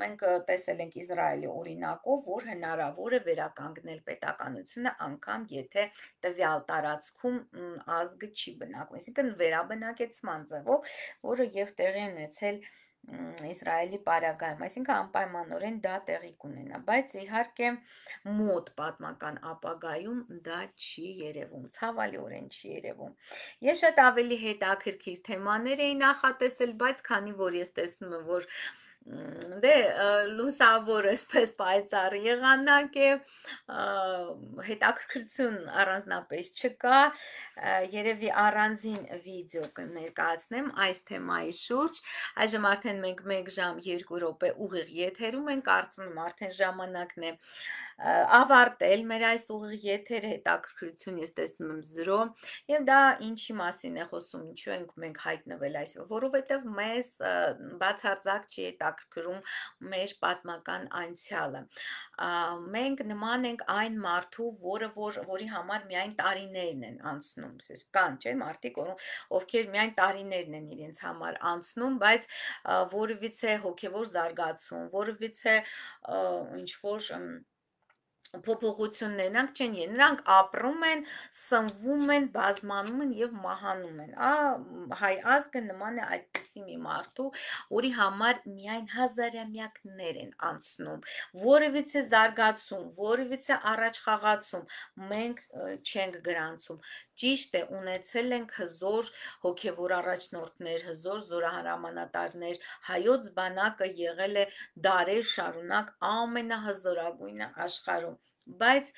մենք տեսել ենք Իսրայելի օրինակով, որ հնարավոր է վերականգնել պետականությունը անգամ եթե տվյալ տարածքում ազգը չի բնակվում, այսինքն վերաբնակեցման ձևով, որը եւ տեղի ունեցել Իսրայելի պարագայում, այսինքն անպայմանորեն դա տեղի կունենա, բայց իհարկե մոտ պատմական ապագայում դա չի երևում, ցավալիորեն չի երևում։ Ես շատ ավելի հետաքրքիր թեմաներ էի նախատեսել, բայց քանի որ ես տեսնում եմ, որ դե լուսավոր այսպես պայծառ եղանակ է հետաքրքրություն առանձնապես չկա երևի առանձին վիդեո կներկայացնեմ այս թեմայի շուրջ այժմ արդեն մենք 1 ժամ 2 րոպե ուղիղ եթերում ենք կարծում եմ արդեն ժամանակն է ավարտել մեր այս ուղիղ եթերը, հետաքրքրություն ես տեսնում եմ 0, եւ դա ինչի մասին է խոսում, ինչու ենք մենք հայտնվել այս, որովհետեւ մեզ բացարձակ չի հետաքրքրում մեր պատմական անցյալը։ Մենք նման ենք այն մարդու, որի համար միայն տարիներն են անցնում, կան չէ՞ մարդիկ, ովքեր միայն տարիներն են իրենց համար անցնում, բայց որևիցե հոգևոր զարգացում, որևիցե ինչ որ փոփոխություններ, նրանք չեն եղել, նրանք ապրում են, սնվում են, բազմանում են եւ մահանում են։ Հայ ազգը նման է այդպիսի մի մարդու, որի համար միայն հազարամյակներ են անցնում, որևիցե զարգացում, որևիցե առաջխաղացում մենք չենք գրանցում։ Ճիշտ է, ունեցել ենք հզոր հոգևոր առաջնորդներ, հզոր զորահրամանատարներ, հայոց բանակը եղել է դարեր շարունակ ամենահզորագույնը աշխարհում, բայց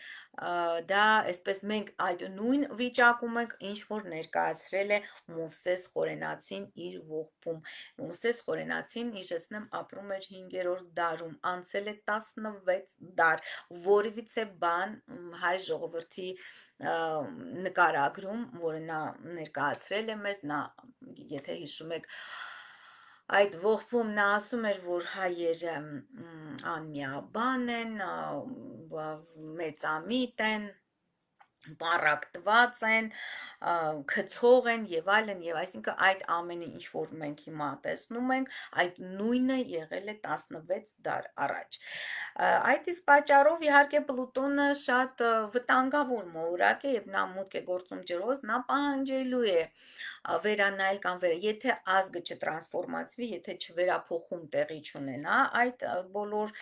դա այսպես մենք այդ նույն վիճակում ենք, ինչ որ ներկայացրել է Մովսես Խորենացին իր ողբում։ Մովսես Խորենացին, հիշեցնեմ, ապրում էր 5-րդ դարում, անցել է 16 դար, որևիցե բան հայ ժողովրդի նկարագրում, որը նա ներկայացրել է մեզ, նա, եթե հիշում եք, այդ ողբում նա ասում էր, որ հայերը անմիաբան են, մեծամիտ են, պառակտված են, քցող են եւ այլն, եւ այսինքն այդ ամենը ինչ որ մենք հիմա տեսնում ենք, այդ նույնը եղել է 16 դար առաջ։ Այդ իսկ պատճառով իհարկե Պլուտոնը շատ վտանգավոր մոլորակ է եւ նա մուտք է գործում ջրոց, նա պահանջելու է վերանայել կամ եթե ազգը չտրանսֆորմացվի, եթե չվերափոխում տեղի չունենա այդ բոլոր,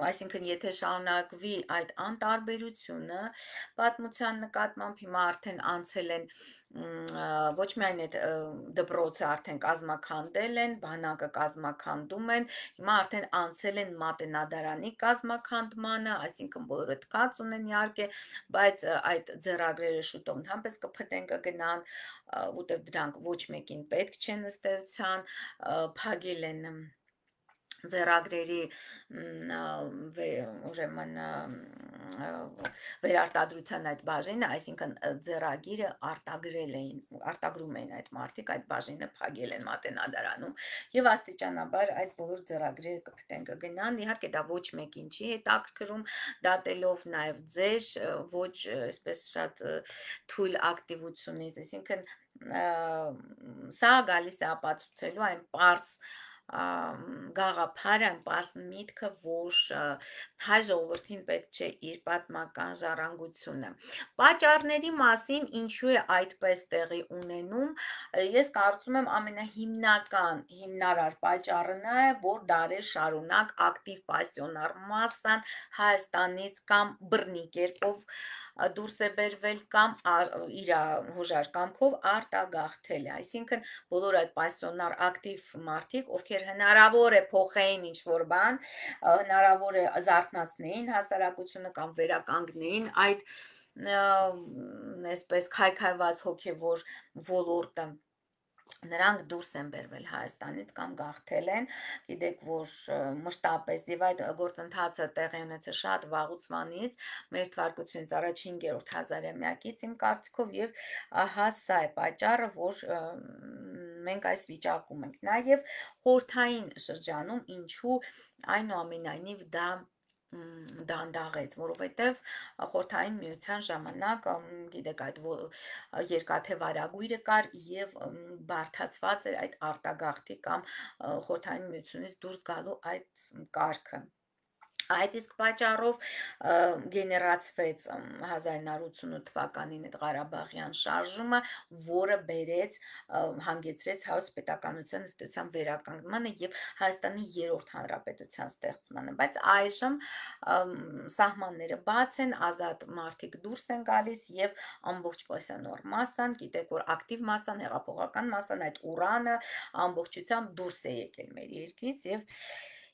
այսինքն եթե շարունակվի այդ անտարբերությունը պատմության նկատմամբ, հիմա արդեն անցել են ոչ միայն այդ դպրոցը արդեն կազմաքանդել են, բանակը կազմաքանդում են, հիմա արդեն անցել են մատենադարանի կազմաքանդմանը, այսինքն բոլորը թքած ունեն իհարկե, բայց այդ ձեռագրերը շուտով ընդհանրապես կփտեն, կգնան, որտեղ դրանք ոչ մեկին պետք չեն ըստ էության, փակել են ձեռագրերի ուրեմն վերարտադրության այդ բաժինը, այսինքն ձեռագիրը արտագրում էին այդ մարդիկ, այդ բաժինը փակել են մատենադարանում եւ աստիճանաբար այդ բոլոր ձեռագրերը կփտեն, կգնան, իհարկե դա ոչ մեկին չի հետաքրքրում, դատելով նաեւ ձեր ոչ այսպես շատ թույլ ակտիվությունից, այսինքն սա գալիս է ապացուցելու այն պարզ գաղափարը, պարզ միտքը, որ հայ ժողովրդին պետք չէ իր պատմական ժառանգությունը։ Պատճառների մասին ինչու է այդպես տեղի ունենում, ես կարծում եմ ամենահիմնական հիմնարար պատճառը նա է, որ դարեր շարունակ ակտիվ պասիոնար մասսան Հայաստանից կամ բռնի կերպով դուրս է բերվել կամ իր հոժար կամքով արտագաղթել է, այսինքն բոլոր այդ պասիոնար ակտիվ մարդիկ, ովքեր հնարավոր է փոխեին ինչ որ բան, հնարավոր է զարթնացնեին հասարակությունը կամ վերականգնեին այդ այսպես քայքայված հոգևոր ոլորտը, նրանք դուրս են բերվել Հայաստանից կամ գաղթել են, գիտեք, որ մշտապես եւ այդ գործընթացը տեղի ունեցել շատ վաղուց վանից, մեր թվարկությունից առաջ 5-րդ հազարամյակից իմ կարծիքով, եւ ահա սա է պատճառը, որ մենք այս վիճակում ենք։ Նաեւ խորհրդային շրջանում ինչու այնուամենայնիվ դա դանդաղեց, որովհետև խորհրդային միության ժամանակ, գիտեք, այդ երկաթե վարագույրը կար եւ բարդացված էր այդ արտագաղթի կամ խորհրդային միությունից դուրս գալու այդ կարգը։ Այդ իսկ պատճառով գեներացվեց 1988 թվականին այդ Ղարաբաղյան շարժումը, որը հանգեցրեց հայոց պետականության ըստ էության վերականգնմանը եւ Հայաստանի 3-րդ հանրապետության ստեղծմանը, բայց այժմ սահմանները բաց են, ազատ մարդիկ դուրս են գալիս եւ ամբողջ պասիոնար մասսան, գիտեք, որ ակտիվ մասսան, հեղափոխական մասսան, այդ ուրանը ամբողջությամբ դուրս է եկել մեր երկրից եւ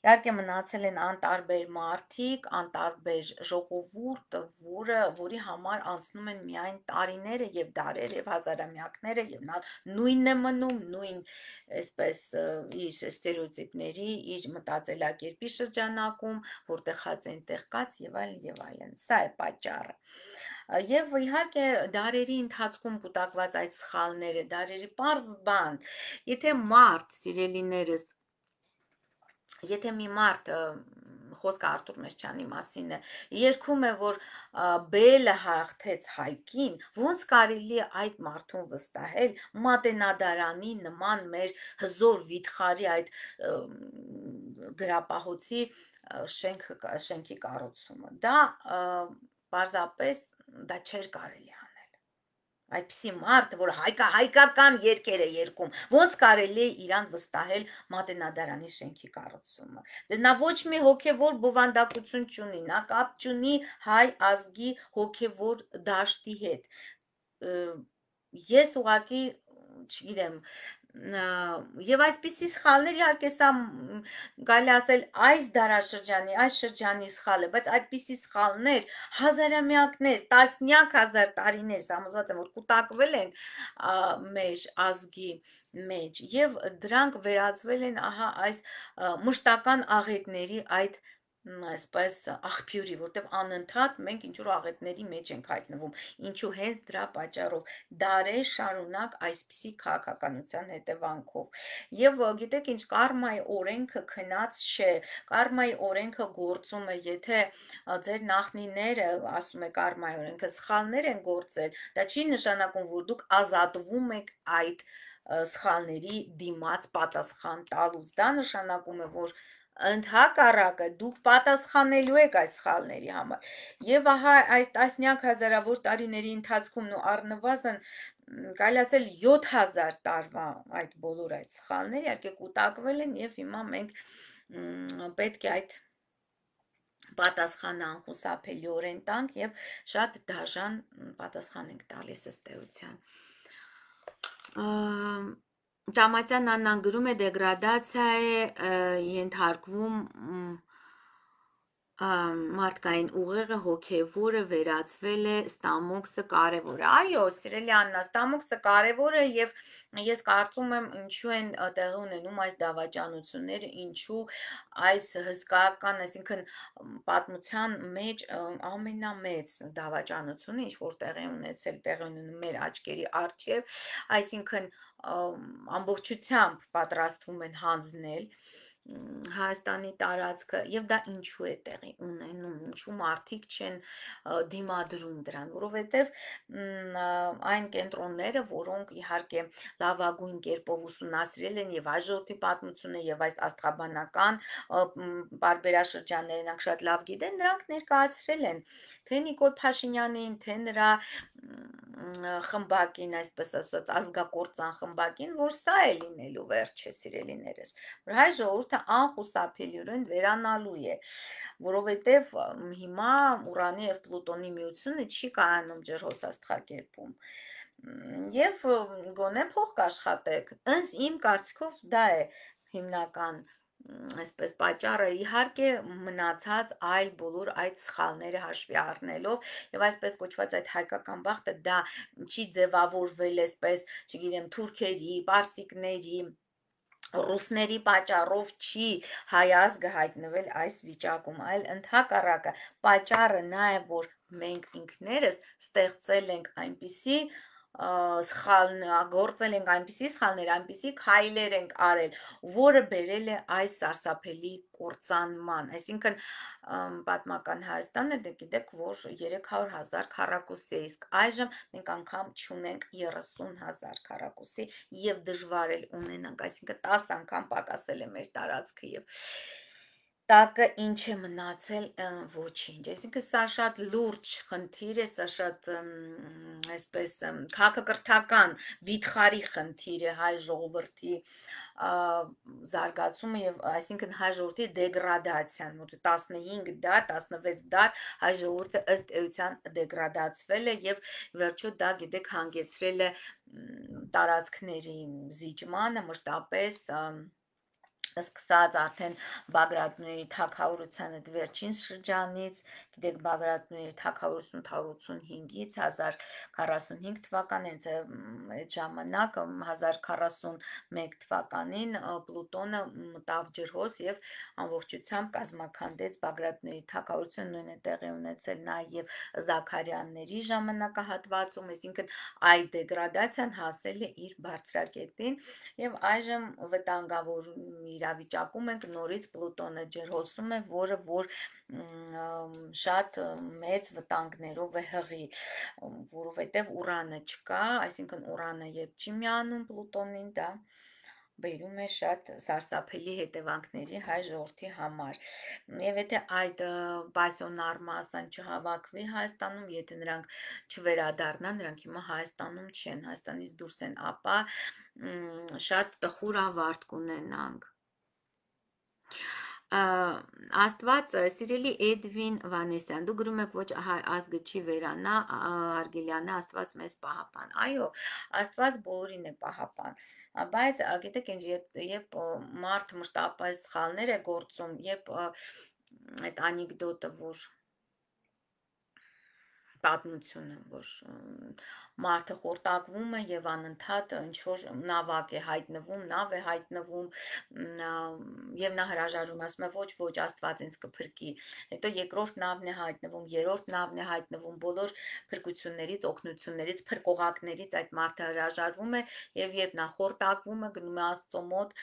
Իհարկե մնացել են անտարբեր մարդիկ, անտարբեր ժողովուրդ, որի համար անցնում են միայն տարիները եւ դարերը եւ հազարամյակները եւ նա նույնն է մնում, նույն այսպես իր ստերեոտիպների, իր մտածելակերպի շրջանակում, որտեղ հաց այնտեղ կաց եւ այլն եւ այլն։ Սա է պատճառը։ Եվ իհարկե դարերի ընթացքում կուտակված այդ սխալները, դարերի պարզ բան, եթե մարդ, սիրելիներս, եթե մի մարդ խոսքը Արտուր Մեսչյանի մասին է, երգում է, որ բելը հաղթեց հայկին, ոնց կարելի է այդ մարդուն վստահել մատենադարանի նման մեր հզոր վիթխարի այդ գրապահոցի շենքի կառուցումը։ Դա պարզապես դա չէր կարելի անել։ Այդպիսի մարդը, որ հայկական երգեր է երգում, ոնց կարելի է իրան վստահել մատենադարանի շենքի կառուցումը։ Նա ոչ մի հոգևոր բովանդակություն չունի, նա կապ չունի հայ ազգի հոգևոր դաշտի հետ։ Ես ուղղակի չգիտեմ, եւ այսպիսի սխալներ իհարկե սա կարելի ասել այս դարաշրջանի, այս շրջանի սխալ է, բայց այդպիսի սխալներ հազարամյակներ, տասնյակ հազար տարիներ համոզված եմ, որ կուտակվել են մեր ազգի մեջ եւ դրանք վերածվել են ահա այս մշտական աղետների այդ այսպես աղբյուրի, որտեղ անընդհատ մենք ինչ-որ աղետների մեջ ենք հայտնվում, ինչու հենց դրա պատճառով դարեր շարունակ այսպիսի քաղաքականության հետևանքով։ Եվ գիտեք ինչ, կարմայի օրենքը քնած չէ, կարմայի օրենքը գործում է, եթե ձեր նախնիները, ասում է կարմայի օրենքը, սխալներ են գործել, դա չի նշանակում, որ դուք ազատվում եք այդ սխալների դիմաց պատասխան տալուց, դա նշանակում է, որ ընդհակառակը դուք պատասխանելու եք այդ սխալների համար։ Եվ ահա այս տասնյակ հազարավոր տարիների ընթացքում ու առնվազն կարելի ասել 7000 տարվա այդ բոլոր այդ սխալները իհարկե կուտակվել են եւ հիմա մենք պետք է այդ պատասխանը անխուսափելիորեն տանք եւ շատ դաժան պատասխան ենք տալիս ըստ էության։ Տամատյան Աննան գրում է դեգրադացիա է ենթարկվում մարդկային ուղեղը հոգևորը վերածվել է ստամոքսը կարևոր է։ Այո, սիրելի Աննա, ստամոքսը կարևոր է եւ ես կարծում եմ ինչու են տեղի ունենում այս դավաճանությունները, ինչու այս հսկայական, այսինքն պատմության մեջ ամենամեծ դավաճանությունը, ինչ որ տեղի ունենում մեր աչքերի առջև, այսինքն ամբողջությամբ պատրաստվում են հանձնել Հայաստանի տարածքը եւ դա ինչու է տեղի ունենում, ինչու մարդիկ չեն դիմադրում դրան, որովհետեւ այն կենտրոնները, որոնք իհարկե լավագույն կերպով ուսումնասիրել են եւ այս ժողովրդի պատմությունը եւ այս աստղաբանական բարբերաշրջանները նրանք շատ լավ գիտեն, նրանք ներկայացրել են թե Նիկոլ Փաշինյանին, թե նրա խմբակին, այսպես ասած, ազգակործան խմբակին, որ սա է լինելու վերջը, սիրելիներս, որ հայ ժողովուրդը անխուսափելիորեն վերանալու է, որովհետև հիմա Ուրանի եւ Պլուտոնի միությունը չի կայանում ջրհոս աստղակերպում։ Եվ գոնե փող կաշխատեք, ըստ իմ կարծիքով դա է հիմնական այսպես պատճառը, իհարկե մնացած այլ բոլոր այդ սխալները հաշվի առնելով եւ այսպես կոչված այդ հայկական բախտը դա չի ձևավորվել այսպես, չգիտեմ, թուրքերի, պարսիկների, ռուսների պատճառով չի հայ ազգը հայտնվել այս վիճակում, այլ ընդհակառակը պատճառը նա է, որ մենք ինքներս ստեղծել ենք այնպիսի գործել ենք այնպիսի սխալներ, այնպիսի քայլեր ենք արել, որը բերել է այս սարսափելի կործանման, այսինքն պատմական Հայաստանը դե գիտեք, որ 300,000 քառակուսի է, իսկ այժմ մենք անգամ չունենք 30,000 քառակուսի եւ դժվար էլ ունենանք, այսինքն 10 անգամ պակասել է մեր տարածքը եւ տակը ինչ է մնացել ոչինչ, այսինքն սա շատ լուրջ խնդիր է, սա շատ այսպես քաղաքակրթական վիթխարի խնդիր է հայ ժողովրդի զարգացումը եւ այսինքն հայ ժողովրդի դեգրադացիան, որ 15 դար, 16 դար հայ ժողովուրդը ըստ էության դեգրադացվել է եւ վերջո դա գիտեք հանգեցրել է տարածքների զիջմանը, մշտապես Սկսած արդեն Բագրատների թագավորության այդ վերջին շրջանից, գիտեք Բագրատների թագավորություն 1085-ից 1045 թվականին, այդ ժամանակ 1041 թվականին Պլուտոնը մտավ ջրհոս եւ ամբողջությամբ կազմաքանդեց Բագրատների թագավորությունը, նույնը տեղի ունեցել նաեւ Զաքարյանների ժամանակահատվածում, այսինքն այդ դեգրադացիան հասել է իր բարձրակետին եւ այժմ վտանգավոր իրավիճակում ենք նորից Պլուտոնը ջրհոսում է, որ շատ մեծ վտանգներով է հղի, որովհետև ուրանը չկա, այսինքն ուրանը երբ չի միանում Պլուտոնին, դա բերում է շատ սարսափելի հետևանքների հայ ժողովրդի համար։ Եվ եթե այդ պասիոնար մասան չհավաքվի Հայաստանում, եթե նրանք չվերադառնան, նրանք հիմա Հայաստանում չեն, Հայաստանից դուրս են, ապա շատ տխուր ավարտ կունենանք։ Աստված, սիրելի Էդվին Վանեսյան, դու գրում եք ոչ ազգը չի վերանա, Արգելյանը, Աստված մեզ պահապան։ Այո, Աստված բոլորին է պահապան, բայց գիտեք ինչ, երբ մարդ մշտապես սխալներ է գործում, երբ այդ անեկդոտը, որ պատմությունը, որ մարդը խորտակվում է եւ անընդհատ ինչ-որ նավակ է հայտնվում, նավ է հայտնվում եւ նա հրաժարվում, ասում է ոչ, Աստված ինձ կփրկի։ Հետո երկրորդ նավն է հայտնվում, երրորդ նավն է հայտնվում, բոլոր փրկություններից, օգնություններից, փրկողակներից այդ մարդը հրաժարվում է եւ երբ նա խորտակվում է, գնում է Աստծո մոտ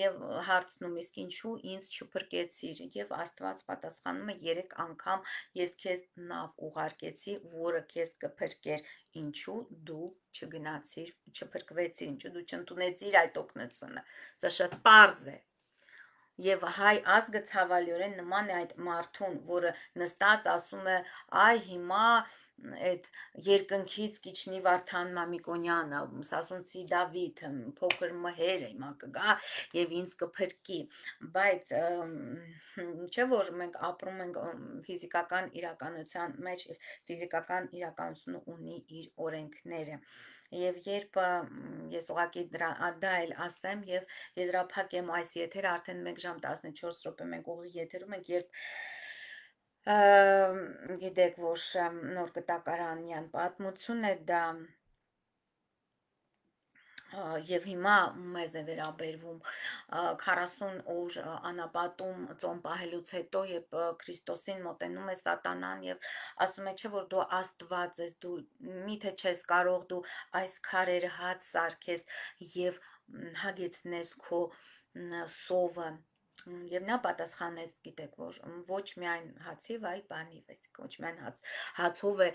եւ հարցնում, իսկ ինչու ինձ չփրկեցիր, եւ Աստված պատասխանում է 3 անգամ ես քեզ նավ ուղարկեցի, որը քեզ կփրկեր, ինչու դու չգնացիր, չփրկվեցիր, ինչու դու չընդունեցիր այդ օգնությունը։ Սա շատ պարզ է։ Եվ հայ ազգը ցավալիորեն նման է այդ մարդուն, որը նստած ասում է, այ հիմա այդ երկնքից կիջնի Վարդան Մամիկոնյանը, Սասունցի Դավիթ, փոքր մհերը հիմա կգա եւ ինձ կփրկի, բայց չէ՞ որ մենք ապրում ենք ֆիզիկական իրականության մեջ, ֆիզիկական իրականությունը ունի իր օրենքները։ Եվ երբ ես ուղղակի դա էլ ասեմ եւ եզրափակեմ այս եթերը, արդեն 1 ժամ 14 րոպե մենք ուղիղ եթերում ենք, երբ գիտեք, որ նոր կտակարանյան պատմություն է դա եւ հիմա մեզ է վերաբերվում 40 օր անապատում ծոմ պահելուց հետո, երբ Քրիստոսին մոտենում է սատանան եւ ասում է, չէ՞ որ դու Աստված ես, դու միթե չես կարող դու այս քարերը հաց սարքես եւ հագեցնես քո սովը։ Եվ նա պատասխանեց, գիտեք, որ ոչ միայն հացի, այլ բանիվ, այսինքն ոչ միայն հացով է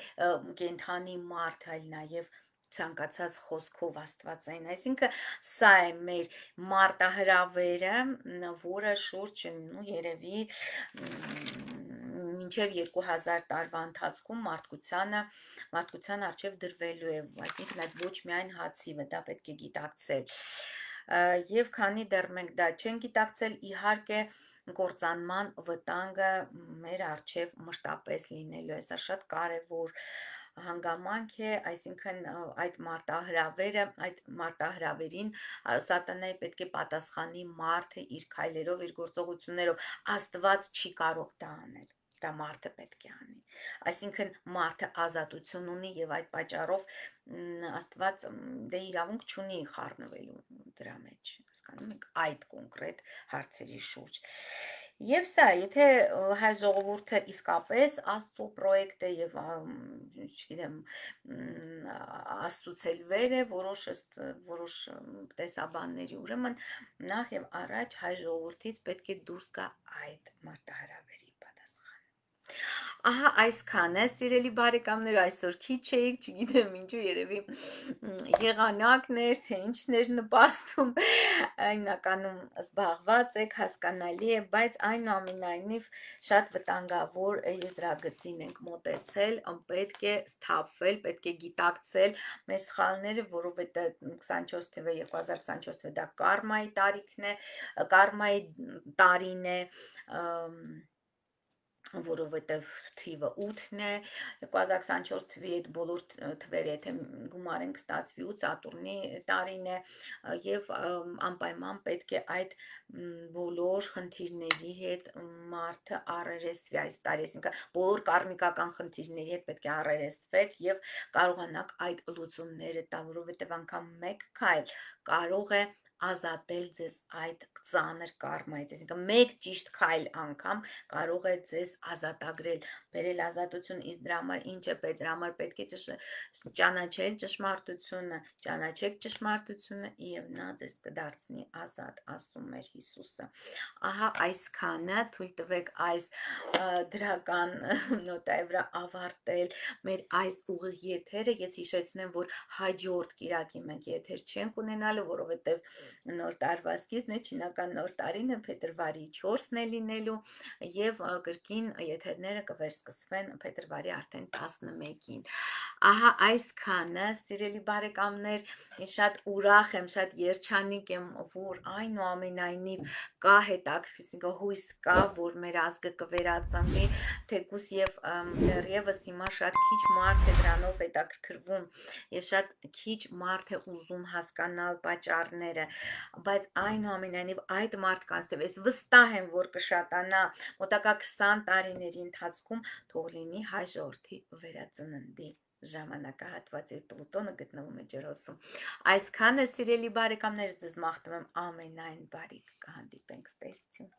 կենդանի մարդ, այլ նաեւ ցանկացած խոսքով աստվածային, այսինքն սա է մեր մարտահրավերը, որը շուրջ երևի մինչև 2000 տարվա ընթացքում մարդկության առջև դրվելու է, այսինքն այդ ոչ միայն հացիվը, դա պետք է գիտակցել։ Եվ քանի դեռ մենք դա չենք գիտակցել, իհարկե գործանման վտանգը մեր առջև մշտապես լինելու է, սա շատ կարևոր հանգամանք է, այսինքն այդ մարտահրավերը, այդ մարտահրավերին սատանայի պետք է պատասխանի մարդը իր քայլերով, իր գործողություններով, Աստված չի կարող դա անել, դա մարդը պետք է անի, այսինքն մարդը ազատություն ունի եւ այդ պատճառով Աստված դե իրավունք չունի խառնվելու դրա մեջ, հասկանում եք, այդ կոնկրետ հարցերի շուրջ։ Եվ սա, եթե հայ ժողովուրդը իսկապես Աստծո պրոյեկտ է եւ չգիտեմ աստծուցելվեր է որոշ տեսաբանների, ուրեմն նախ եւ առաջ հայ ժողովրդից պետք է դուրս գա այդ մարտահրավերի պատասխանը։ Ահա այսքանը, սիրելի բարեկամներ, այսօր քիչ էիք, չգիտեմ ինչու, երևի եղանակն էր, թե ինչն էր նպաստում, հիմնականում զբաղված եք, հասկանալի է, բայց այնուամենայնիվ շատ վտանգավոր եզրագծին ենք մոտեցել, պետք է սթափվել, պետք է գիտակցել մեր սխալները, որովհետեւ 24 թվականը 2024 թվականը դա կարմայի տարիքն է, կարմայի տարին է, որովհետև թիվը 8-ն է, 2024 թվի այդ բոլոր թվերը, եթե գումարենք ստացվի 8 Սատուրնի տարին է եւ անպայման պետք է այդ բոլոր խնդիրների հետ մարդը առերեսվի այս տարի, այսինքն բոլոր կարմիկական խնդիրների հետ պետք է առերեսվեք եւ կարողանաք այդ լուծումները տալ, որովհետև անգամ մեկ քայլ կարող է ազատել ձեզ այդ ծանր կարմայից, այսինքն մեկ ճիշտ քայլ անգամ կարող է ձեզ ազատագրել, բերել ազատություն, իսկ դրա համար ինչ է պետք, դրա համար պետք է ճանաչել ճշմարտությունը, ճանաչեք ճշմարտությունը եւ նա ձեզ կդարձնի ազատ, ասում էր Հիսուսը։ Ահա այսքանը, թույլ տվեք այս դրական նոտայի վրա ավարտել մեր այս ուղիղ եթերը, ես հիշեցնեմ, որ հաջորդ կիրակի մենք եթեր չենք ունենալու, որովհետև նոր տարվա սկիզբն է, չինական նոր տարին է, փետրվարի 4-ն է լինելու եւ կրկին եթերները կվերսկսվեն փետրվարի արդեն 11-ին։ Ահա այսքանը, սիրելի բարեկամներ, շատ ուրախ եմ, շատ երջանիկ եմ, որ այնուամենայնիվ կա հետաքրքիր հույս կա, որ մեր ազգը կվերածնվի, թեկուզ եւ դեռևս հիմա շատ քիչ մարդ է դրանով հետաքրքրվում եւ շատ քիչ մարդ է ուզում հասկանալ պատճառները, բայց այնուամենայնիվ այդ մարդկանց թվում ես վստահ եմ, որ կշատանա մոտակա 20 տարիների ընթացքում, թող լինի հայ ժողովրդի վերածննդի ժամանակահատված, երբ Պլուտոնը գտնվում է ջրոսում։ Այսքանը, սիրելի բարեկամներ, ձեզ մաղթում եմ ամենայն բարիք, կհանդիպենք, ստեսություն։